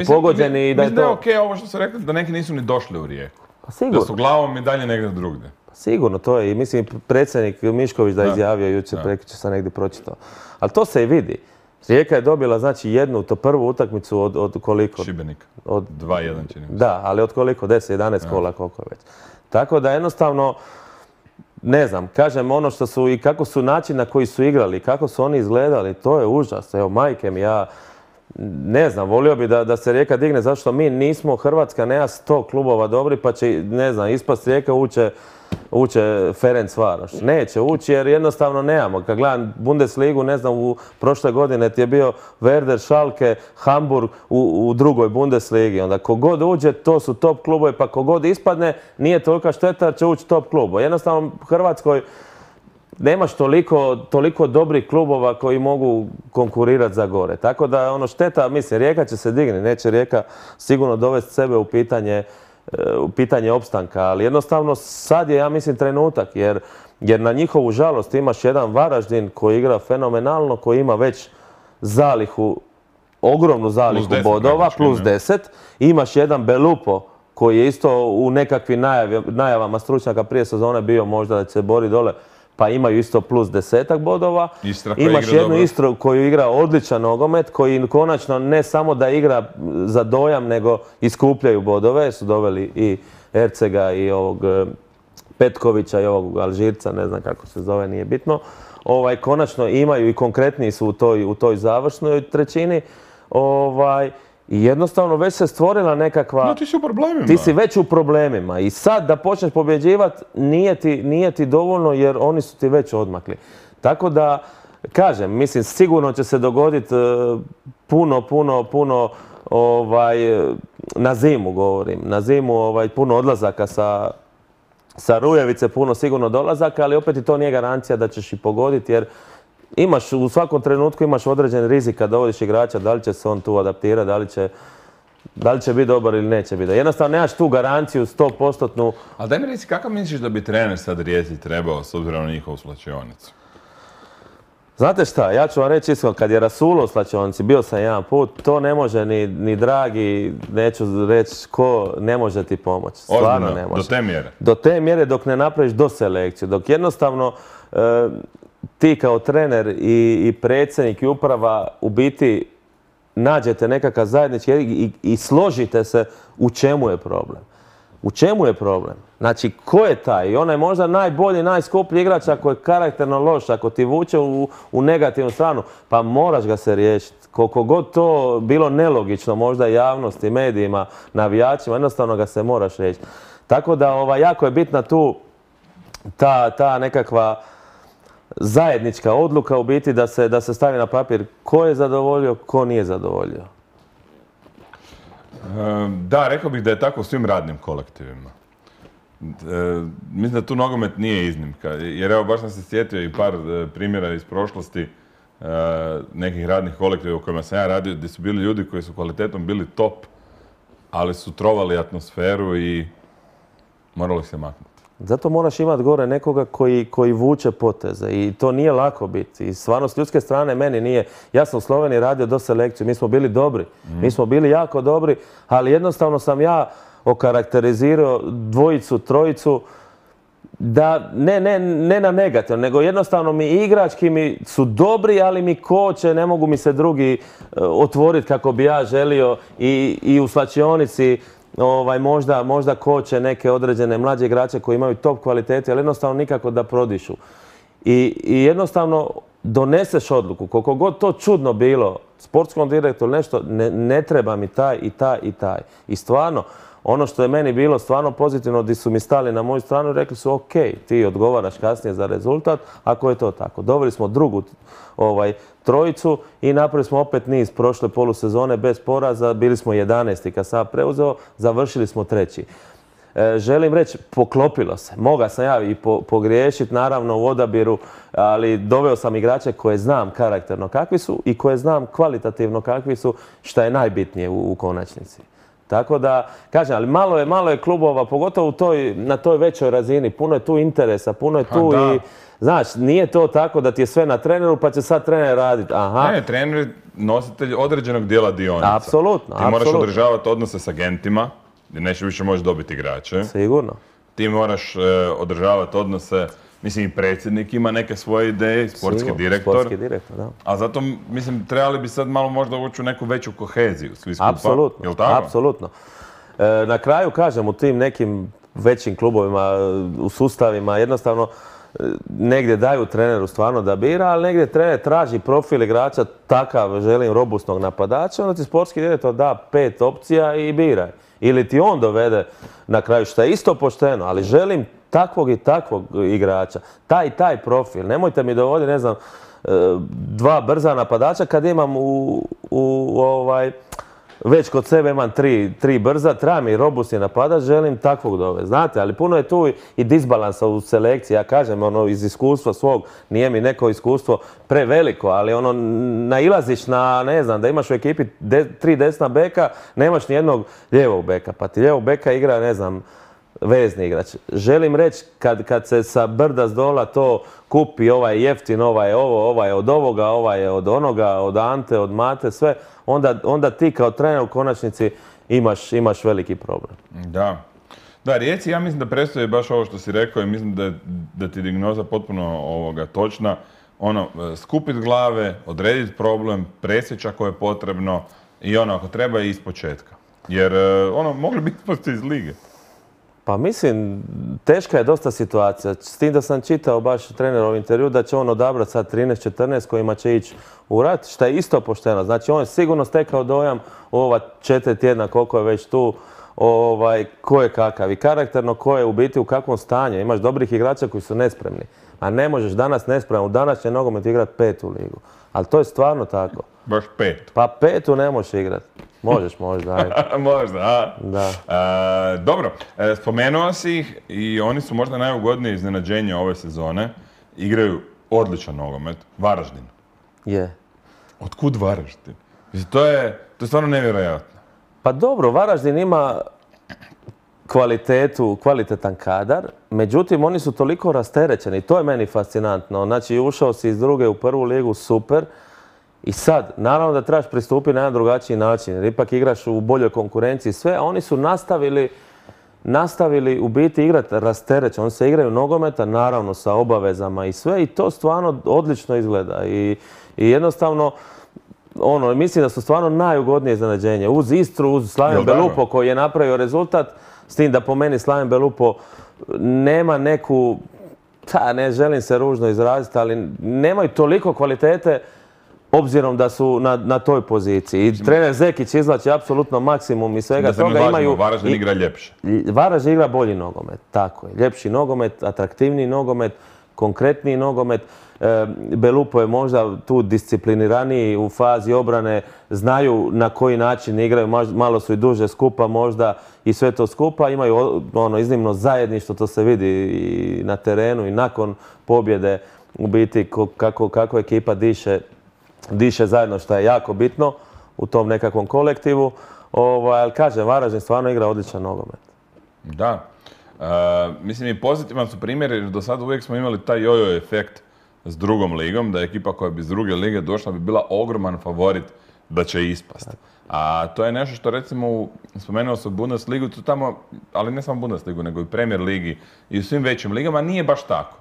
pogođeni. Mislim da je okej ovo što ste rekli, da neki nisu ni došli u Rijeku. Sigurno. Da su glavom i dalje negdje drugdje. Sigurno, to je i mislim predsjednik Mišković da je izjavio jučer, prekjučer sam negdje pročitao. Ali to se i vidi. Rijeka je dobila znači to prvu utakmicu od koliko? Šibenika. Od 2-1 čini. Da, ali od koliko? 10, 11 kola, koliko je već. Tako da jednostavno, ne znam, kažem ono što su i kako su način na koji su igrali, kako su oni izgledali, to je užas. Evo, majke mi, ja ne znam, volio bi da se Rijeka digne, zašto mi nismo, Hrvatska nema 100 klubova dobri, pa će, ne znam, ispast Rijeka uče Ferencvaroš. Neće ući jer jednostavno nemamo. Kad gledam Bundesligu, ne znam, u prošle godine ti je bio Werder, Schalke, Hamburg u drugoj Bundesligi. Onda kogod uđe, to su top klubovi, pa kogod ispadne, nije tolika šteta jer će ući top klubo. Jednostavno u Hrvatskoj nemaš toliko dobrih klubova koji mogu konkurirati za gore. Tako da ono šteta, mislim, Rijeka će se digni, neće Rijeka sigurno dovesti sebe u pitanje opstanka, ali jednostavno sad je, ja mislim, trenutak, jer na njihovu žalost imaš jedan Varaždin koji igra fenomenalno, koji ima već ogromnu zalihu bodova, plus 10. Imaš jedan Belupo koji je isto u nekakvim najavama stručnjaka prije sezone bio možda da će se bori dole, pa imaju isto plus 10 bodova. Imaš jednu Istru koju igra odličan nogomet, koji konačno ne samo da igra za dojam, nego iskupljaju bodove. Su doveli i Ercega i ovog Petkovića i ovog Alžirca, ne znam kako se zove, nije bitno. Konačno imaju i konkretniji su u toj završnoj trećini. I jednostavno već se stvorila nekakva... No, ti si u problemima. Ti si već u problemima i sad da počneš pobjeđivati nije ti dovoljno jer oni su ti već odmakli. Tako da, kažem, mislim, sigurno će se dogoditi puno, na zimu govorim, na zimu puno odlazaka sa Rujevice, puno sigurno dolazaka, ali opet i to nije garancija da ćeš i pogoditi jer u svakom trenutku imaš određen rizik kad dovodiš igrača, da li će se on tu adaptirati, da li će biti dobar ili neće biti. Jednostavno nemaš tu garanciju 100%. Ali daj mi reci, kakav misliš da bi trener sad Rijeci trebao s obzirom na njihovu slačionicu? Znate šta, ja ću vam reći iskreno, kad je Rasulo u slačionici, bio sam jedan put, to ne može ni dragi, neću reći ko, ne može ti pomoći. Stvarno ne može. Do te mjere? Do te mjere dok ne napraviš doselekciju, dok jednostavno ti kao trener i predsjednik i uprava u biti nađete nekakav zajednički i složite se u čemu je problem. U čemu je problem? Znači, ko je taj? I onaj možda najbolji, najskuplji igrač ako je karakterno loš, ako ti vuče u negativnu stranu, pa moraš ga se riješiti. Koliko god to bilo nelogično, možda javnosti, medijima, navijačima, jednostavno ga se moraš riješiti. Tako da jako je bitna tu ta nekakva zajednička odluka u biti da se stavi na papir ko je zadovoljio, ko nije zadovoljio. Da, rekao bih da je tako u svim radnim kolektivima. Mislim da tu nogomet nije iznimka. Jer evo, baš sam se sjetio i par primjera iz prošlosti nekih radnih kolektiva u kojima sam ja radio, gdje su bili ljudi koji su kvalitetom bili top, ali su trovali atmosferu i moralo ih se maknuti. Zato moraš imati gore nekoga koji vuče poteze i to nije lako biti. I stvarno s ljudske strane meni nije. Ja sam u Sloveniji radio do selekciju, mi smo bili dobri, mi smo bili jako dobri, ali jednostavno sam ja okarakterizirao dvojicu, trojicu, da ne na negativno, nego jednostavno mi igrački mi su dobri, ali mi koče, ne mogu mi se drugi otvoriti kako bi ja želio i u slačionici možda koče neke određene mlađe igrače koji imaju top kvalitete, ali jednostavno nikako da prodišu. I jednostavno doneseš odluku, koliko god to čudno bilo, sportskom direktoru nešto, ne treba mi taj i taj i taj. I stvarno, ono što je meni bilo stvarno pozitivno, gdje su mi stali na moju stranu, rekli su ok, ti odgovaraš kasnije za rezultat, ako je to tako. Doveli smo drugu trojicu i napravili smo opet niz prošle polusezone bez poraza, bili smo 11. kad sam preuzeo, završili smo 3. želim reći, poklopilo se. Moga sam ja i pogriješiti, naravno, u odabiru, ali doveo sam igrače koje znam karakterno kakvi su i koje znam kvalitativno kakvi su, što je najbitnije u konačnici. Tako da, kažem, ali malo je klubova, pogotovo na toj većoj razini. Puno je tu interesa, puno je tu i... Znaš, nije to tako da ti je sve na treneru pa će sad trener raditi. Ne, trener je nositelj određenog dijela dionica. Apsolutno. Ti moraš održavati odnose s agentima, gdje neće više moći dobiti igrače. Sigurno. Ti moraš održavati odnose, mislim i predsjednik ima neke svoje ideje, sportski direktor. Sportski direktor, da. A zato, mislim, trebali bi sad malo možda ući u neku veću koheziju svi skupa. Apsolutno, jel' tako? apsolutno. Na kraju, kažem, u tim nekim većim klubovima, u sustavima, jednostavno negdje daju treneru stvarno da bira, ali negdje trener traži profil igrača takav, želim robustnog napadača, onda ti sportski direktor da 5 opcija i biraj. Ili ti on dovede na kraju, što je isto pošteno, ali želim takvog i takvog igrača, taj profil. Nemojte mi dovoditi, ne znam, 2 brza napadača kad imam već kod sebe imam 3 brza, treba mi robustni napadač, želim takvog dovesti. Znate, ali puno je tu i disbalansa u selekciji. Ja kažem, iz iskustva svog, nije mi neko iskustvo preveliko, ali nailaziš na, ne znam, da imaš u ekipi 3 desna beka, nemaš ni jednog lijevog beka, pa ti lijevog beka igra, ne znam, vezni igrač. Želim reći, kad se sa brda s dola to kupi, ovaj je jeftin, ovaj je ovo, ovaj je od ovoga, ovaj je od onoga, od Ante, od Mate, sve, onda ti kao trener u konačnici imaš veliki problem. Da. Da, Rijeci, ja mislim da predstavlja baš ovo što si rekao i mislim da ti dijagnoza potpuno točna. Skupit glave, odrediti problem, presjeći ako je potrebno i ako treba i ispočetka. Jer mogli bi ispasti iz lige. Pa mislim, teška je dosta situacija. S tim da sam čitao baš trenerov intervju da će on odabrati sad 13-14 kojima će ići u rat, što je isto pošteno. Znači on je sigurno stekao dojam u ova 4 tjedna koliko je već tu, ko je kakav i karakterno ko je u biti u kakvom stanju. Imaš dobrih igrača koji su nespremni. A ne možeš danas nespreman u današnje nogomet igrati 5. ligu. Ali to je stvarno tako. Baš 5. Pa 5. ne možeš igrati. Možeš možda, ajde. Možda, a? Da. Dobro, spomenuo si ih i oni su možda najugodnije iznenađenje ove sezone. Igraju odličan nogomet. Varaždin. Je. Otkud Varaždin? Mislim, to je stvarno nevjerojatno. Pa dobro, Varaždin ima kvalitetan kadar, međutim oni su toliko rasterećeni, to je meni fascinantno. Znači ušao si iz druge u prvu ligu, super. I sad, naravno da trebaš pristupiti na jedan drugačiji način, jer ipak igraš u boljoj konkurenciji sve, a oni su nastavili u biti igrati rasterećeno. Oni se igraju nogometa, naravno sa obavezama i sve, i to stvarno odlično izgleda. I jednostavno, mislim da su stvarno najugodnije iznenađenje. Uz Istru, uz Slaven Belupo koji je napravio rezultat, s tim da po meni Slaven Belupo nema neku, ne želim se ružno izraziti, ali nemaju toliko kvalitete obzirom da su na toj poziciji. I trener Zekić izvlači apsolutno maksimum i svega toga. Varaždin igra ljepše. Varaždin igra bolji nogomet, tako je. Ljepši nogomet, atraktivniji nogomet, konkretniji nogomet. Belupo je možda tu discipliniraniji u fazi obrane, znaju na koji način igraju, malo su i duže skupa možda i sve to skupa. Imaju iznimno zajedništvo, to se vidi i na terenu i nakon pobjede u biti kako ekipa diše zajedno, što je jako bitno u tom nekakvom kolektivu. Ali kažem, Varaždin stvarno igra odličan nogomet. Da. Mislim i pozitivan su primjeri, jer do sada uvijek smo imali taj jojo efekt s drugom ligom, da je ekipa koja bi iz druge lige došla bi bila ogroman favorit da će ispasti. A to je nešto što recimo, spomenuo sam Bundesligu, tamo, ali ne samo Bundesligu, nego i Premier ligi i u svim većim ligama, nije baš tako.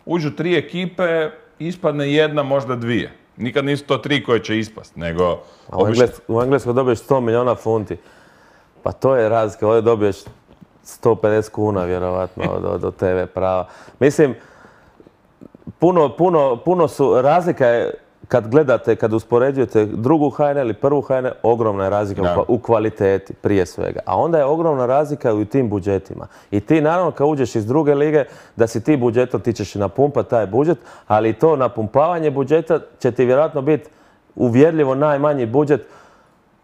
Uđu 3 ekipe, ispadne 1, možda 2. Nikad nisu to 3 koje će ispast, nego... U Engleskoj dobiješ 100 milijuna funti. Pa to je razlika, ovdje dobiješ 150 kuna vjerovatno od TV prava. Mislim, puno su, razlika je kad gledate, kad uspoređujete drugu HNL i prvu HNL, ogromna je razlika u kvaliteti prije svega. A onda je ogromna razlika i u tim budžetima. I ti naravno kad uđeš iz druge lige, da si ti budžetom, ti ćeš napumpati taj budžet, ali to napumpavanje budžeta će ti vjerojatno biti uvjerljivo najmanji budžet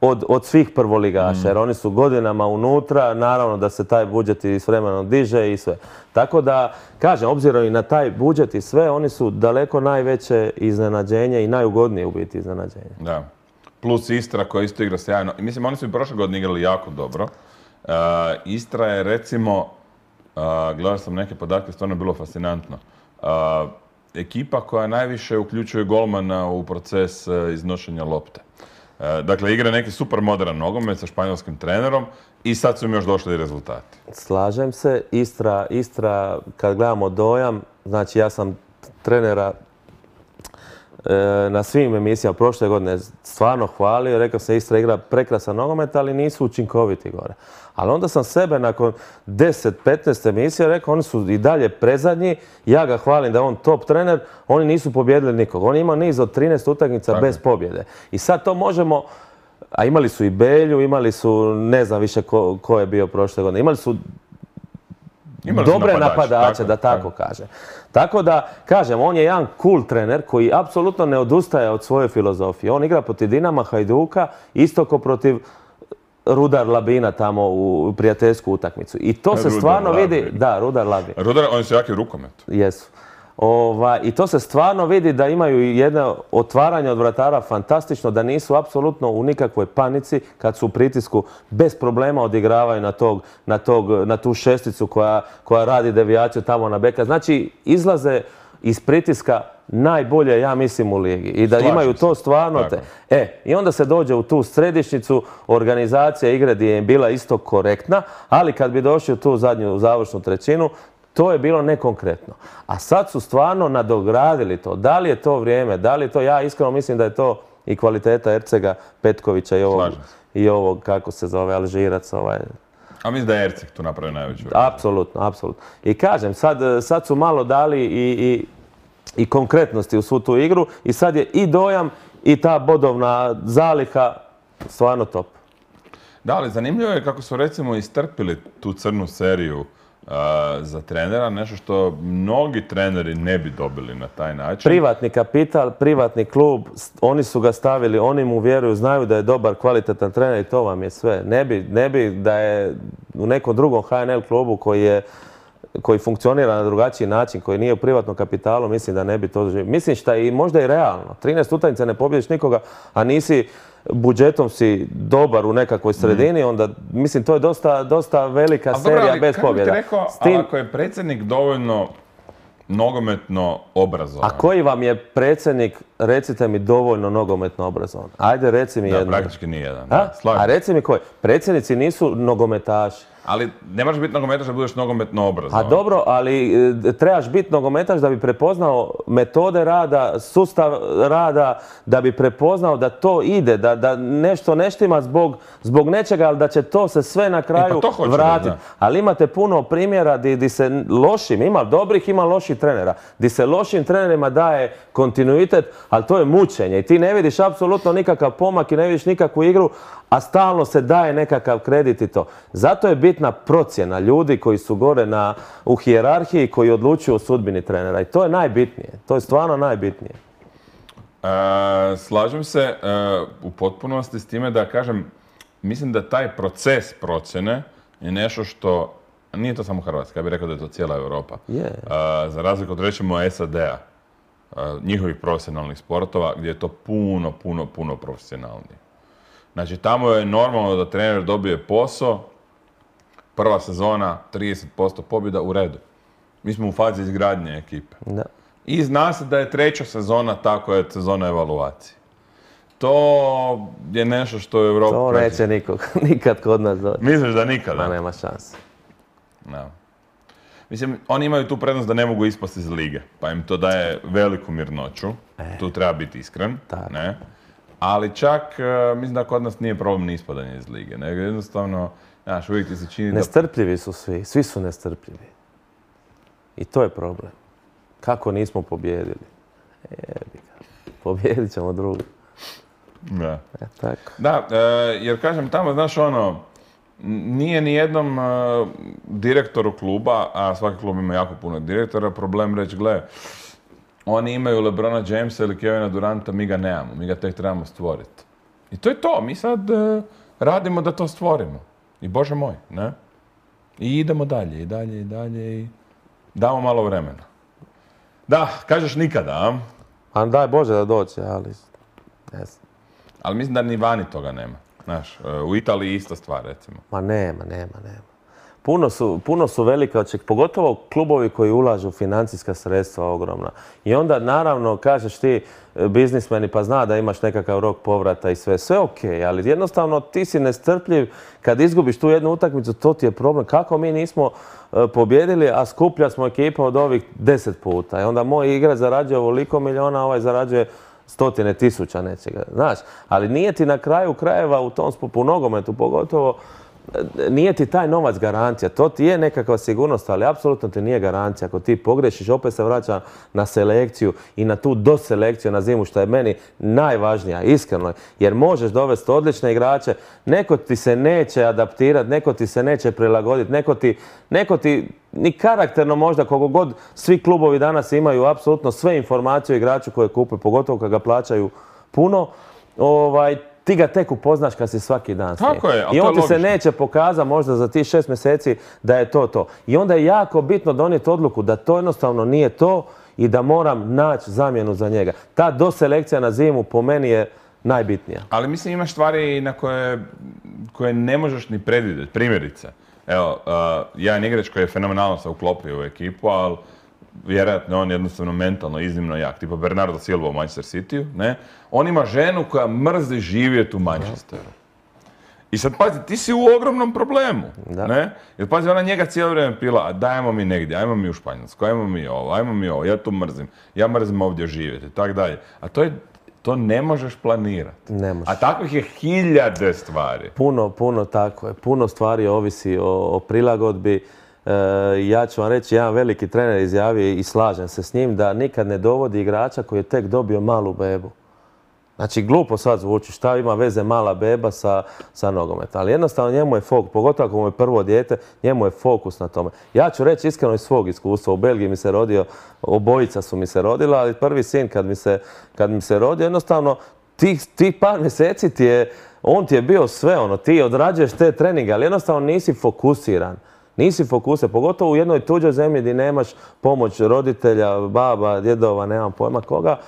od svih prvoligaša, jer oni su godinama unutra, naravno da se taj budžet i s vremenom diže i sve. Tako da, kažem, obzirom i na taj budžet i sve, oni su daleko najveće iznenađenje i najugodnije u biti iznenađenje. Da. Plus Istra koja isto igra sjajno. Mislim, oni su i prošle godine igrali jako dobro. Istra je, recimo, gledao sam neke podatke, stvarno je bilo fascinantno. Ekipa koja najviše uključuje golmana u proces iznošenja lopte. Dakle, igra neki super modern nogomet sa španjolskim trenerom i sad su im još došli i rezultati. Slažem se. Istra, kad gledamo dojam, znači ja sam trenera na svim emisijama prošle godine stvarno hvalio. Rekao sam, Istra igra prekrasan nogomet, ali nisu učinkoviti gore. Ali onda sam sebe nakon 10-15 emisija rekao, oni su i dalje prezadnji, ja ga hvalim da je on top trener, oni nisu pobjedili nikog. Oni imaju niz od 13 utakmica bez pobjede. I sad to možemo, a imali su i Belju, imali su, ne znam više ko je bio prošle godine, imali su dobre napadače, da tako kaže. Tako da, kažem, on je jedan cool trener koji apsolutno ne odustaje od svoje filozofije. On igra protiv Dinama, Hajduka, isto ko protiv Rudar Labina tamo u prijateljsku utakmicu. I to se stvarno vidi. Da, Rudar Labin. Rudar, oni su jaki u rukometu. Jesu. I to se stvarno vidi da imaju jedno otvaranje od vratara fantastično, da nisu apsolutno u nikakvoj panici kad su u pritisku, bez problema odigravaju na tu šesticu koja radi devijaciju tamo na beka. Znači, izlaze iz pritiska najbolje, ja mislim, u ligi. I da imaju to stvarno i onda se dođe u tu središnjicu, organizacija igre gdje je bila isto korektna, ali kad bi došli u tu zadnju završnu trećinu, to je bilo nekonkretno. A sad su stvarno nadogradili to. Da li je to vrijeme, da li je to, ja iskreno mislim da je to i kvaliteta Ercega, Petkovića i ovog kako se zove, Alžirac. A mislim da je Erceg tu napravio najveću. Apsolutno, apsolutno. I kažem, sad su malo dali i konkretnosti u svu tu igru i sad je i dojam i ta bodovna zaliha stvarno top. Da, ali zanimljivo je kako su recimo istrpili tu crnu seriju za trenera, nešto što mnogi treneri ne bi dobili na taj način. Privatni kapital, privatni klub, oni su ga stavili, oni mu vjeruju, znaju da je dobar, kvalitetan trener i to vam je sve. Ne bi da je u nekom drugom HNL klubu koji funkcionira na drugačiji način, koji nije u privatnom kapitalu, mislim da ne bi to doživio. Mislim šta je možda i realno. 13 utakmica ne pobjediš nikoga, a nisi budžetom si dobar u nekakvoj sredini, onda, mislim, to je dosta velika serija bez pobjeda. Ali kako bi ti rekao, ako je predsjednik dovoljno nogometno obrazovan? A koji vam je predsjednik, recite mi, dovoljno nogometno obrazovan? Ajde, reci mi jedno. Da, praktički nijedan. A reci mi koji? Predsjednici nisu nogometaši. Ali ne možeš biti nogometaš da budeš nogometno obrazovan. A dobro, ali trebaš biti nogometaš da bi prepoznao metode rada, sustav rada, da bi prepoznao da to ide, da nešto ne štima zbog nečega, ali da će to se sve na kraju vratiti. Ali imate puno primjera gdje se lošim, ima dobrih, ima loših trenera, gdje se lošim trenerima daje kontinuitet, ali to je mučenje i ti ne vidiš apsolutno nikakav pomak i ne vidiš nikakvu igru, a stalno se daje nekakav kredit i to. Zato je bitna procjena ljudi koji su gore u hijerarhiji, koji odlučuju o sudbini trenera. I to je najbitnije. To je stvarno najbitnije. Slažem se u potpunosti s time da kažem, mislim da taj proces procjene je nešto što, nije to samo Hrvatska, ja bih rekao da je to cijela Europa. Za razliku od recimo SAD-a, njihovih profesionalnih sportova, gdje je to puno profesionalnije. Znači, tamo je normalno da trener dobije posao, prva sezona, 30% pobjeda, u redu. Mi smo u fazi izgradnje ekipe. Da. I zna se da je treća sezona tako je sezona evaluacije. To je nešto što je u Europi... To neće nikad kod nas doći. Misliš da nikada? Da nema šanse. No. Mislim, oni imaju tu prednost da ne mogu ispasti iz lige, pa im to daje veliku mirnoću. Tu treba biti iskren. Ne? Ali čak, mislim da kod nas nije problem ni ispadanje iz lige, nego jednostavno, znaš, uvijek ti se čini da... Nestrpljivi su svi su nestrpljivi. I to je problem. Kako nismo pobjedili? Pobjedit ćemo drugi. Da. Tako. Da, jer kažem, tamo, znaš, nije ni jednom direktoru kluba, a svaki klub ima jako puno direktora, problem reći, gle, oni imaju LeBrona Jamesa ili Kevina Duranta, mi ga nemamo, mi ga tek trebamo stvoriti. I to je to. Mi sad radimo da to stvorimo. I Bože moj, ne? I idemo dalje, i dalje, i dalje, i damo malo vremena. Da, kažeš nikada, a? A daj Bože da dođe, ali ne znam. Ali mislim da ni vani toga nema. Znaš, u Italiji ista stvar, recimo. Ma nema. Puno su velike očekivanja, pogotovo klubovi koji ulažu financijska sredstva ogromna. I onda naravno kažeš ti biznismeni pa zna da imaš nekakav rok povrata i sve ok, ali jednostavno ti si nestrpljiv kad izgubiš tu jednu utakmicu, to ti je problem. Kako mi nismo pobjedili, a skuplja smo ekipa od ovih 10 puta. I onda moj igrač zarađuje ovoliko miliona, ovaj zarađuje stotine tisuća nečega. Znaš, ali nije ti na kraju krajeva u tom u nogometu pogotovo, nije ti taj novac garancija. To ti je nekakva sigurnost, ali apsolutno ti nije garancija. Ako ti pogrešiš, opet se vraća na selekciju i na tu doselekciju na zimu, što je meni najvažnija, iskreno. Jer možeš dovesti odlične igrače, neko ti se neće adaptirati, neko ti se neće prilagoditi, neko ti ni karakterno možda, koliko god svi klubovi danas imaju apsolutno sve informacije o igraču koje kupe, pogotovo kad ga plaćaju puno, ti ga tek upoznaš kad si svaki dan s njim. Tako je, ali I to je on ti se logično. neće pokazati možda za tih 6 mjeseci da je to. I onda je jako bitno donijeti odluku da to jednostavno nije to i da moram naći zamjenu za njega. Ta doselekcija na zimu po meni je najbitnija. Ali mislim imaš stvari na koje ne možeš ni predvidjeti. Primjerice, evo, jedan igrač koji je fenomenalno se uklopio u ekipu, ali vjerojatno on jednostavno mentalno iznimno jak, tipa Bernardo Silva u Manchester Cityu, ne? On ima ženu koja mrzi živjeti u Manchesteru. I sad pazi, ti si u ogromnom problemu, ne? Jer pazi, ona njega cijelo vrijeme pila, a dajmo mi negdje, ajmo mi u Španjolsku, ajmo mi ovo, ja tu mrzim, ja mrzim ovdje živjeti, i tak dalje. A to ne možeš planirati. Ne možeš. A takvih je hiljade stvari. Puno tako je. Puno stvari ovisi o prilagodbi. Ja ću vam reći, jedan veliki trener izjavio i slažem se s njim da nikad ne dovodi igrača koji je tek dobio malu bebu. Znači, glupo sad zvuči, šta ima veze mala beba sa nogometom. Ali jednostavno njemu je fokus, pogotovo ako mu je prvo dijete, njemu je fokus na tome. Ja ću reći iskreno iz svog iskustva. U Belgiji mi se rodio, obojica su mi se rodila, ali prvi sin kad mi se rodio, jednostavno tih par mjeseci on ti je bio sve, ti odrađuješ te treninge, ali jednostavno nisi fokusiran. Nisi fokusiran, pogotovo u jednoj tuđoj zemlji gdje nemaš pomoć roditelja, baba, djedova, nemam pojma koga.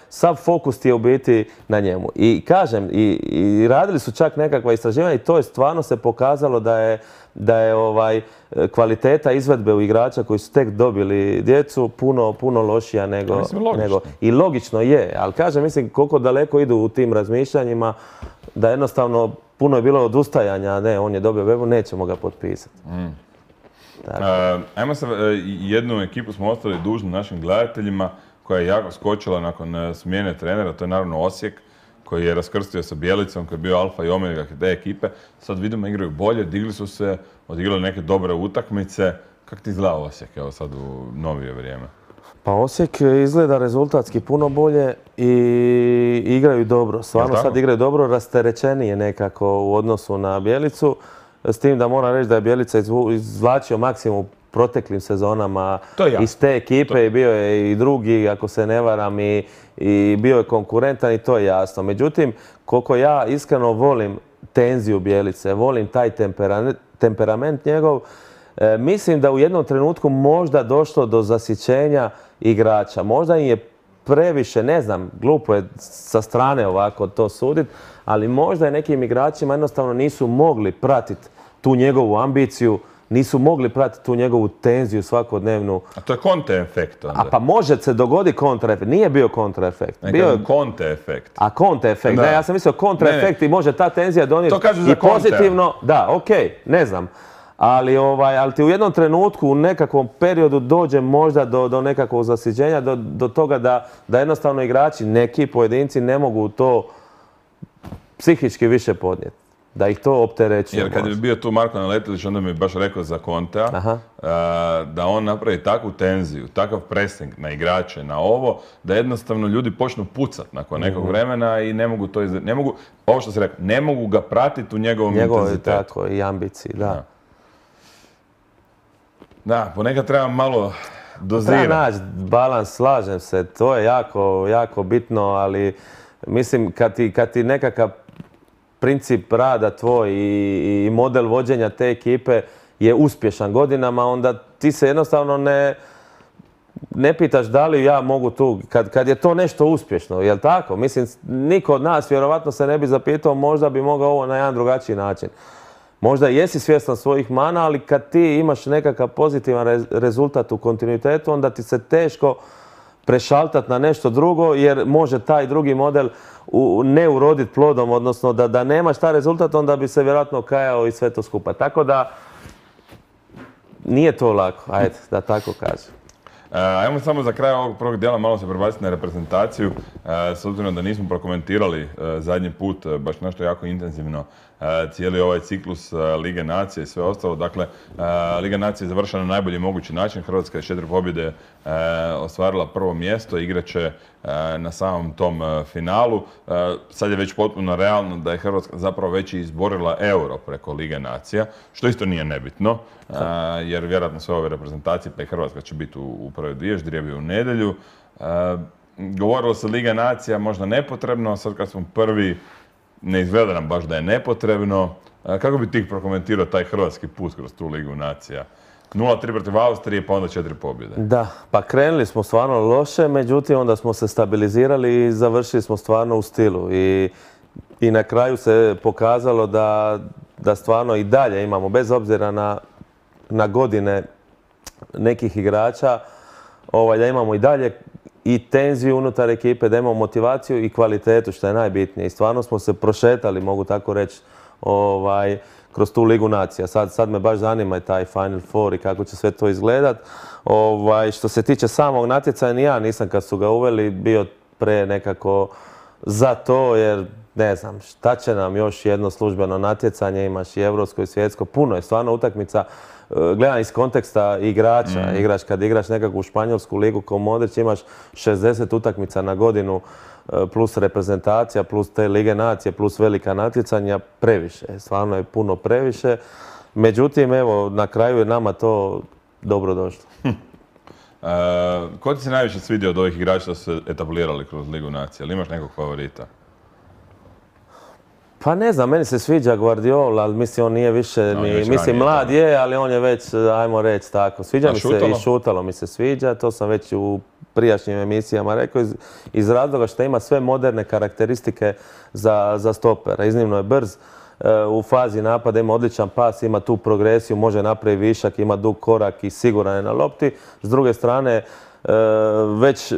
Sav fokus ti je u biti na njemu. I kažem, i radili su čak nekakva istraživanja i to je stvarno se pokazalo da je kvaliteta izvedbe u igrača koji su tek dobili djecu puno lošija nego... I logično je, ali kažem, mislim koliko daleko idu u tim razmišljanjima da jednostavno puno je bilo odustajanja, ne, on je dobio bebu, nećemo ga potpisati. Ajmo se, jednu ekipu smo ostali dužni našim gledateljima koja je jako skočila nakon smjene trenera, to je naravno Osijek, koji je raskrstio sa Bjelicom, koji je bio alfa i omega te ekipe. Sad vidimo igraju bolje, digli su se, odigrali neke dobre utakmice. Kako ti izgleda Osijek, evo sad u novije vrijeme? Pa Osijek izgleda rezultatski puno bolje i igraju dobro. Stvarno sad igraju dobro, rasterećenije nekako u odnosu na Bjelicu. S tim da moram reći da je Bjelica izvlačio maksimum proteklim sezonama iz te ekipe i bio je i drugi, ako se ne varam, i bio je konkurentan i to je jasno. Međutim, koliko ja iskreno volim tenziju Bjelice, volim taj temperament njegov, mislim da u jednom trenutku možda došlo do zasićenja igrača. Možda im je previše, ne znam, glupo je sa strane ovako to suditi, ali možda je nekim igračima jednostavno nisu mogli pratiti tu njegovu ambiciju, nisu mogli pratiti tu njegovu tenziju svakodnevnu. A to je kontraefekt onda? A pa može se dogoditi kontraefekt. Nije bio kontraefekt. Bio je kontraefekt. A kontraefekt, ne, ja sam mislio kontraefekt i može ta tenzija donijeti i pozitivno. Da, okej, ne znam. Ali ti u jednom trenutku, u nekakvom periodu dođe možda do nekakvog zasićenja, do toga da jednostavno igrači, neki pojedinci ne mogu to psihički više podnijeti. Da ih to opterećuje. Jer kad je bio tu Marko Naletilić, onda mi je baš rekao za Contea da on napravi takvu tenziju, takav pressing na igrače, na ovo, da jednostavno ljudi počnu pucat nakon nekog vremena i ne mogu to ovo što si rekao, ne mogu ga pratiti u njegovom intenzitetu. Tako, i ambiciji, da. Da, ponekad treba malo dozirati. Treba naći balans, slažem se, to je jako, jako bitno, ali Mislim, kad ti nekakav princip rada tvoj i model vođenja te ekipe je uspješan godinama, onda ti se jednostavno ne pitaš da li ja mogu tu, kad je to nešto uspješno, jel tako? Mislim, niko od nas vjerovatno se ne bi zapitao, možda bi mogao ovo na jedan drugačiji način. Možda jesi svjestan svojih mana, ali kad ti imaš nekakav pozitivan rezultat u kontinuitetu, onda ti se teško prešaltati na nešto drugo, jer može taj drugi model ne uroditi plodom, odnosno da nemaš taj rezultat, onda bi se vjerojatno kajao i sve to skupa. Tako da nije to lako, ajde, da tako kažem. Ajmo samo za kraj ovog prvog dijela malo se prebaciti na reprezentaciju, s obzirom da nismo prokomentirali zadnji put baš nešto jako intenzivno cijeli ovaj ciklus Lige nacije i sve ostalo. Dakle, Liga nacije je završena na najbolji mogući način. Hrvatska je 4 pobjede ostvarila prvo mjesto, igraće na samom tom finalu. Sad je već potpuno realno da je Hrvatska zapravo već izborila euro preko Lige nacija, što isto nije nebitno, jer vjerojatno sve ove reprezentacije, pa i Hrvatska će biti u prve dvije, ždrijeb u nedjelju. Govorilo se Liga nacija možda nepotrebno, sad kad smo prvi, ne izgleda nam baš da je nepotrebno. Kako bi ti prokomentirao taj hrvatski put kroz tu Ligu nacija? 0-3 protiv Austrije, pa onda 4 pobjede. Da, pa krenuli smo stvarno loše, međutim onda smo se stabilizirali i završili smo stvarno u stilu. I na kraju se pokazalo da stvarno i dalje imamo, bez obzira na godine nekih igrača, da imamo i dalje i tenziju unutar ekipe, da imamo motivaciju i kvalitetu, što je najbitnije. I stvarno smo se prošetali, mogu tako reći, kroz tu Ligu nacija. Sad me baš zanima i taj Final Four i kako će sve to izgledat. Što se tiče samog natjecanja, ni ja nisam kad su ga uveli bio pre nekako za to, jer ne znam, šta će nam još jedno službeno natjecanje, imaš i evropsko i svjetsko, puno je stvarno utakmica. Gledam iz konteksta igrača, kad igraš nekakvu španjolsku ligu kao Modrić, imaš 60 utakmica na godinu, plus reprezentacija, plus te Lige nacije, plus velika natjecanja, previše. Stvarno je puno previše. Međutim, evo, na kraju je nama to dobro došlo. Ko ti se najviše svidio od ovih igrača da su se etablirali kroz Ligu nacija? Ali imaš nekog favorita? Pa ne znam, meni se sviđa Guardiola, ali mislim on nije više, mislim mlad je, ali on je već, ajmo reći tako. Sviđa mi se i Šutalo mi se sviđa, to sam već u prijašnjim emisijama rekao, iz razloga što ima sve moderne karakteristike za stopera. Iznimno je brz, u fazi napada ima odličan pas, ima tu progresiju, može napraviti višak, ima dug korak i siguran je na lopti. S druge strane,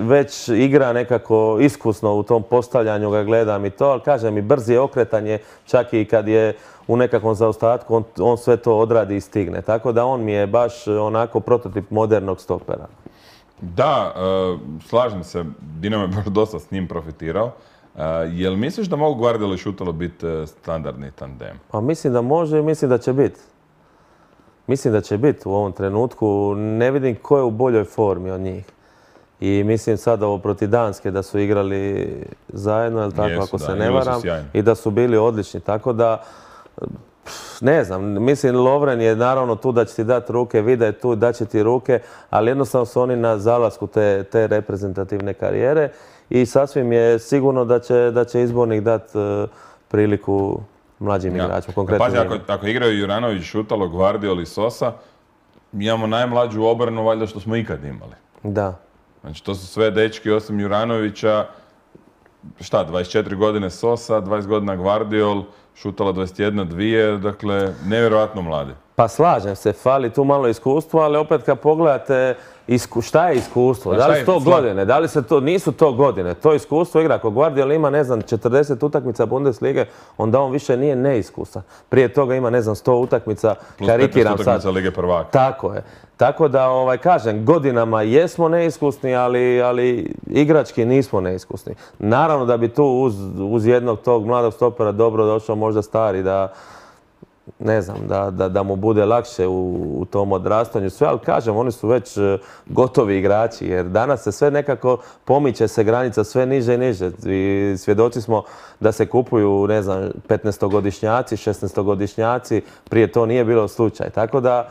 već igra nekako iskusno u tom postavljanju, ga gledam i to, ali kažem i brzi je okretanje, čak i kad je u nekakvom zaostatku, on sve to odradi i stigne. Tako da on mi je baš onako prototip modernog stopera. Da, slažem se, Dinamo je baš dosta s njim profitirao. Jel misliš da mogu Guardiola i Šutalo biti standardni tandem? Pa mislim da može i mislim da će biti. Mislim da će biti u ovom trenutku. Ne vidim ko je u boljoj formi od njih. I mislim sad ovo protiv Danske da su igrali zajedno, jel tako, ako se ne varam, i da su bili odlični. Tako da, ne znam, mislim Lovren je naravno tu da će ti dati ruke, Vida je tu da će ti ruke, ali jednostavno su oni na zalasku te reprezentativne karijere i sasvim je sigurno da će izbornik dati priliku mlađim igračima, konkretno. Pazi, ako igraju Juranović, Šutalo, Guardiola i Sosa, imamo najmlađu obranu valjda što smo ikad imali. Da. Znači, to su sve dečki osim Juranovića, 24 godine Sosa, 20 godina Guardiol, Šutala 21, 2, dakle, nevjerojatno mladi. Pa slažem se, fali tu malo iskustva, ali opet kad pogledate šta je iskustvo, da li su to godine, da li se to, nisu to godine, to iskustvo igra. Ako Guardiol ima, ne znam, 40 utakmica Bundeslige, onda on više nije neiskusan. Prije toga ima, ne znam, 100 utakmica, karikiram sad. Plus 15 utakmica Lige prvaka. Tako je. Tako da, kažem, godinama jesmo neiskusni, ali igrački nismo neiskusni. Naravno da bi tu uz jednog tog mladog stopera dobro došao možda stari ne znam, da mu bude lakše u tom odrastanju sve, ali kažem, oni su već gotovi igrači, jer danas se sve nekako pomiče se granica sve niže i niže. I svjedoci smo da se kupuju, ne znam, 15-godišnjaci, 16-godišnjaci, prije to nije bilo slučaj. Tako da,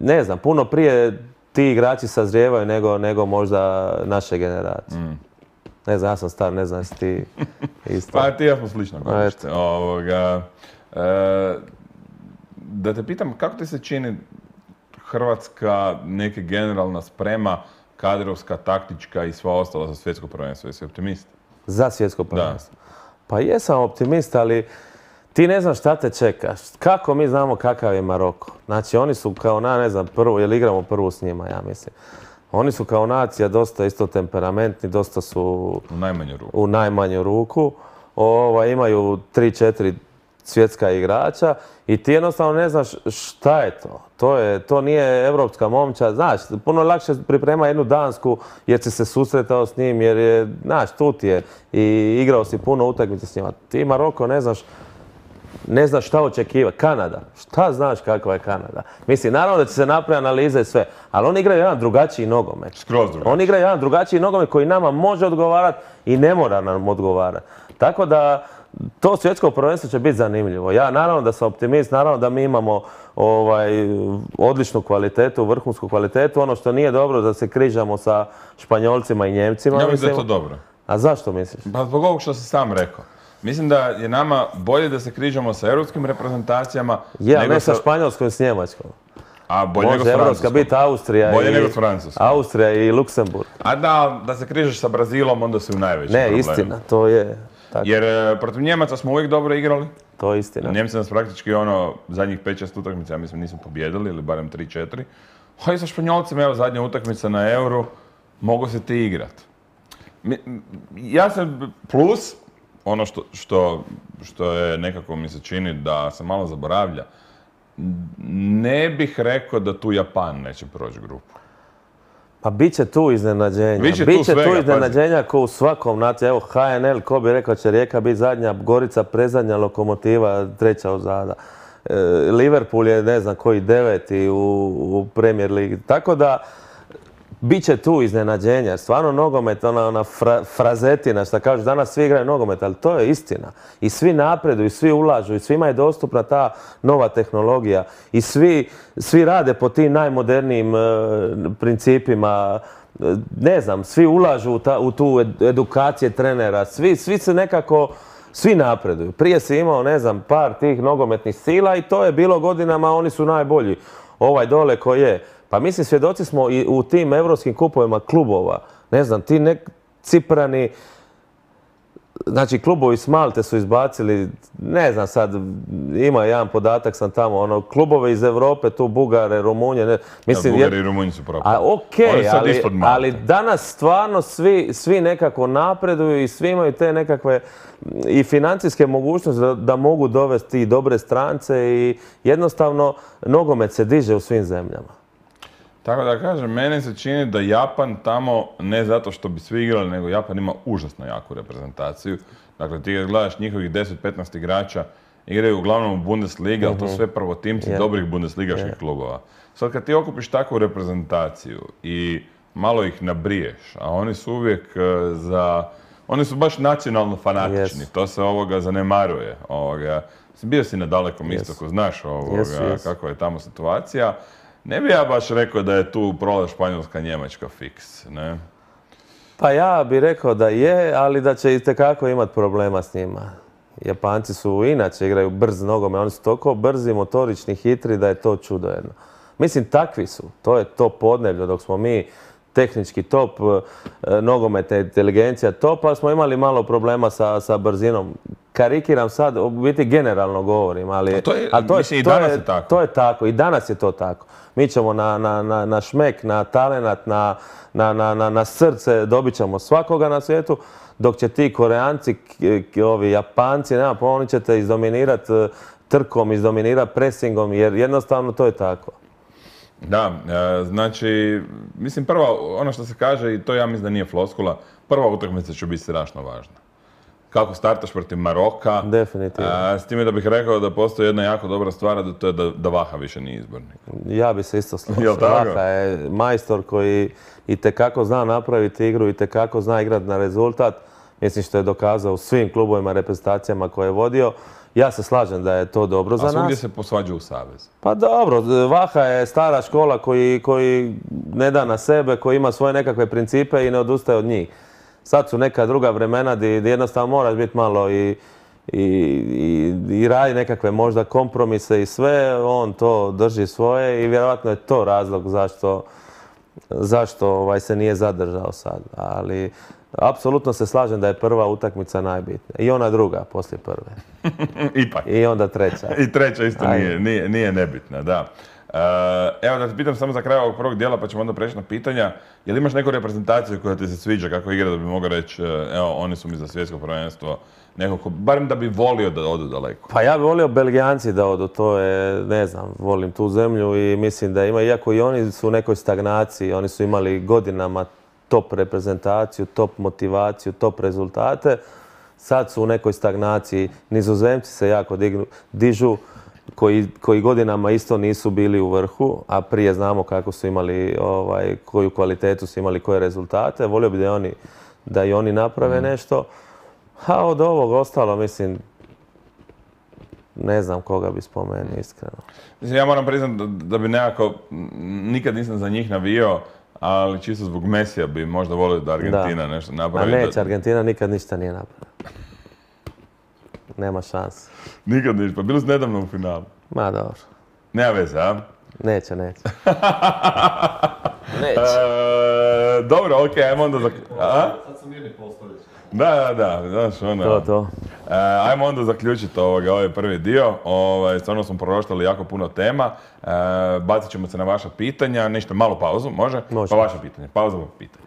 ne znam, puno prije ti igrači sazrijevaju nego možda naše generacije. Ne znam, ja sam star, ne znam jesi ti isto. Pa ti ja smo slično godište. Da te pitam, kako ti se čini Hrvatska neka generalna sprema, kadrovska, taktička i sva ostala za svjetsko prvenstvo? Jesi optimist? Za svjetsko prvenstvo? Pa jesam optimist, ali ti ne znaš šta te čeka. Kako mi znamo kakav je Maroko? Znači, oni su kao ne znam, jer igramo prvu s njima, ja mislim. Oni su kao nacija dosta isto temperamentni, dosta su u najmanju ruku. Imaju 3-4 svjetska igrača i ti jednostavno ne znaš šta je to. To nije evropska momčad. Znaš, puno lakše priprema jednu Dansku jer si se susretao s njim, jer je, znaš, tu ti je i igrao si puno utakmice s njima. Ti Maroko ne znaš šta očekivati. Kanada. Šta znaš kakva je Kanada? Mislim, naravno da će se napraviti analize i sve, ali oni igraju jedan drugačiji nogomet. Skroz drugačiji. Oni igraju jedan drugačiji nogomet koji nama može odgovarati i ne mora nam odgovarati. Tako da to svjetsko prvenstvo će biti zanimljivo. Ja naravno da sam optimist, naravno da mi imamo odličnu kvalitetu, vrhunsku kvalitetu. Ono što nije dobro da se križamo sa Španjolcima i Njemcima. Ja mislim da je to dobro. A zašto misliš? Pa zbog ovog što si sam rekao. Mislim da je nama bolje da se križamo sa europskim reprezentacijama. Ne sa Španjolskom i s Njemačkom. A bolje nego s Francuskom. Može evropska biti Austrija i Luksemburg. A da se križaš sa Brazilom, onda si u najvećem problemu. Ne, istina, to je tako. Jer protiv Njemaca smo uvijek dobro igrali. To je istina. Njemci nas praktički zadnjih 5-6 utakmica, ja mislim, nismo pobjedili, ili barem 3-4. A i sa Španjolcima, evo, zadnja utakmica na Euro, mogu se ti igrat. Ja sam plus, ono što je nekako mi se čini da se malo zaboravlja, ne bih rekao da tu Japan neće proći grupu. Pa bit će tu iznenađenja. Bit će tu iznenađenja ko u svakom naciju. Evo HNL, ko bi rekao će Rijeka biti zadnja, Gorica predzadnja, Lokomotiva treća uzada. Liverpool je ne znam koji 9. u Premier Ligi. Tako da bit će tu iznenađenja. Stvarno nogomet, ona frazetina, što kažu, danas svi igraju nogomet, ali to je istina. I svi napreduju, i svi ulažu, i svima je dostupna ta nova tehnologija. I svi rade po tim najmodernijim principima. Ne znam, svi ulažu u tu edukacije trenera. Svi se nekako, svi napreduju. Prije si imao, ne znam, par tih nogometnih sila i to je bilo godinama, oni su najbolji. Ovaj dole ko je. Pa mislim, svjedoci smo i u tim evropskim kupovima klubova. Ne znam, ti Ciprani, znači klubovi s Malte su izbacili, ne znam sad, ima jedan podatak sam tamo, klubove iz Europe, tu Bugare, Rumunje. Bugari i Rumunji su propali. Okej, ali danas stvarno svi nekako napreduju i svi imaju te nekakve i financijske mogućnosti da mogu dovesti i dobre strance i jednostavno nogomet se diže u svim zemljama. Tako da kažem, meni se čini da Japan tamo, ne zato što bi svi igrali, nego Japan ima užasno jaku reprezentaciju. Dakle, ti kad gledaš njihovih 10-15 igrača, igraju uglavnom u Bundesliga, ali to sve prvotimci dobrih bundesligaških klubova. Sad kad ti okupiš takvu reprezentaciju i malo ih nabriješ, a oni su uvijek oni su baš nacionalno fanatični, to se zanemaruje. Bio si na Dalekom istoku, znaš kakva je tamo situacija. Ne bi ja baš rekao da je tu prolaz Španjolska, Njemačka fiks, ne? Pa ja bih rekao da je, ali da će itekako imati problema s njima. Japanci su inače igraju brz nogomet, oni su toliko brzi, motorični, hitri da je to čudo jedno. Mislim, takvi su. To je to podneblje, dok smo mi tehnički top, nogometna inteligencija top, ali smo imali malo problema sa brzinom. Karikiram sad, u biti generalno govorim, ali to je tako. I danas je to tako. Mi ćemo na šmek, na talenat, na srce, dobit ćemo svakoga na svijetu, dok će ti Koreanci, ovi Japanci, nema pojma, oni će te izdominirati trkom, izdominirati presingom, jer jednostavno to je tako. Da, znači, mislim prvo, ono što se kaže, i to ja mislim da nije floskula, prva utakmica će biti strašno važna. Kako startaš protiv Maroka. Definitivno. S time da bih rekao da postoji jedna jako dobra stvar, a to je da Vaha više nije izbornik. Ja bi se isto složio. Vaha je majstor koji itekako zna napraviti igru, itekako zna igrati na rezultat. Mislim što je dokazao u svim klubovima, reprezentacijama koje je vodio. Ja se slažem da je to dobro za nas. A svugdje se posvađa u savez. Pa dobro, Vaha je stara škola koji ne da na sebe, koji ima svoje nekakve principe i ne odustaje od njih. Sad su neka druga vremena gdje jednostavno moraš biti malo i radi nekakve možda kompromise i sve, on to drži svoje i vjerojatno je to razlog zašto se nije zadržao sad. Ali apsolutno se slažem da je prva utakmica najbitnija. I ona druga poslije prve. Ipak. I onda treća. I treća isto nije nebitna, da. Evo da te pitam samo za kraj ovog prvog dijela pa ćemo onda preći na pitanja. Jel imaš neku reprezentaciju koja ti se sviđa kako igra da bi mogao reći evo oni su mi za svjetsko prvenstvo nekako, barem da bi volio da odu daleko? Pa ja bi volio Belgijanci da odu, to je, ne znam, volim tu zemlju i mislim da ima, iako i oni su u nekoj stagnaciji, oni su imali godinama top reprezentaciju, top motivaciju, top rezultate, sad su u nekoj stagnaciji, Nizozemci se jako dižu, koji godinama isto nisu bili u vrhu, a prije znamo kako su imali, koju kvalitetu su imali, koje rezultate. Volio bi da i oni naprave nešto. A od ovog ostalo, mislim, ne znam koga bi spomenuo, iskreno. Mislim, ja moram priznati da bi nekako, nikad nisam za njih navio, ali čisto zbog Mesija bi možda volio da Argentina nešto napravi. A neće, Argentina nikad ništa nije napravila. Nema šanse. Nikad ništa, pa bili su nedavno u finalu. Ma dobro. Nema veze, a? Neće. Neće. Dobro, okej, ajmo onda Sad su mirni postoljeći. Da, znaš ono. To. Ajmo onda zaključiti ovaj prvi dio. Stvarno smo proštali jako puno tema. Bacit ćemo se na vaša pitanja, nešto malo pauzu, može? Može. Pa vaše pitanje, pauza pitanje.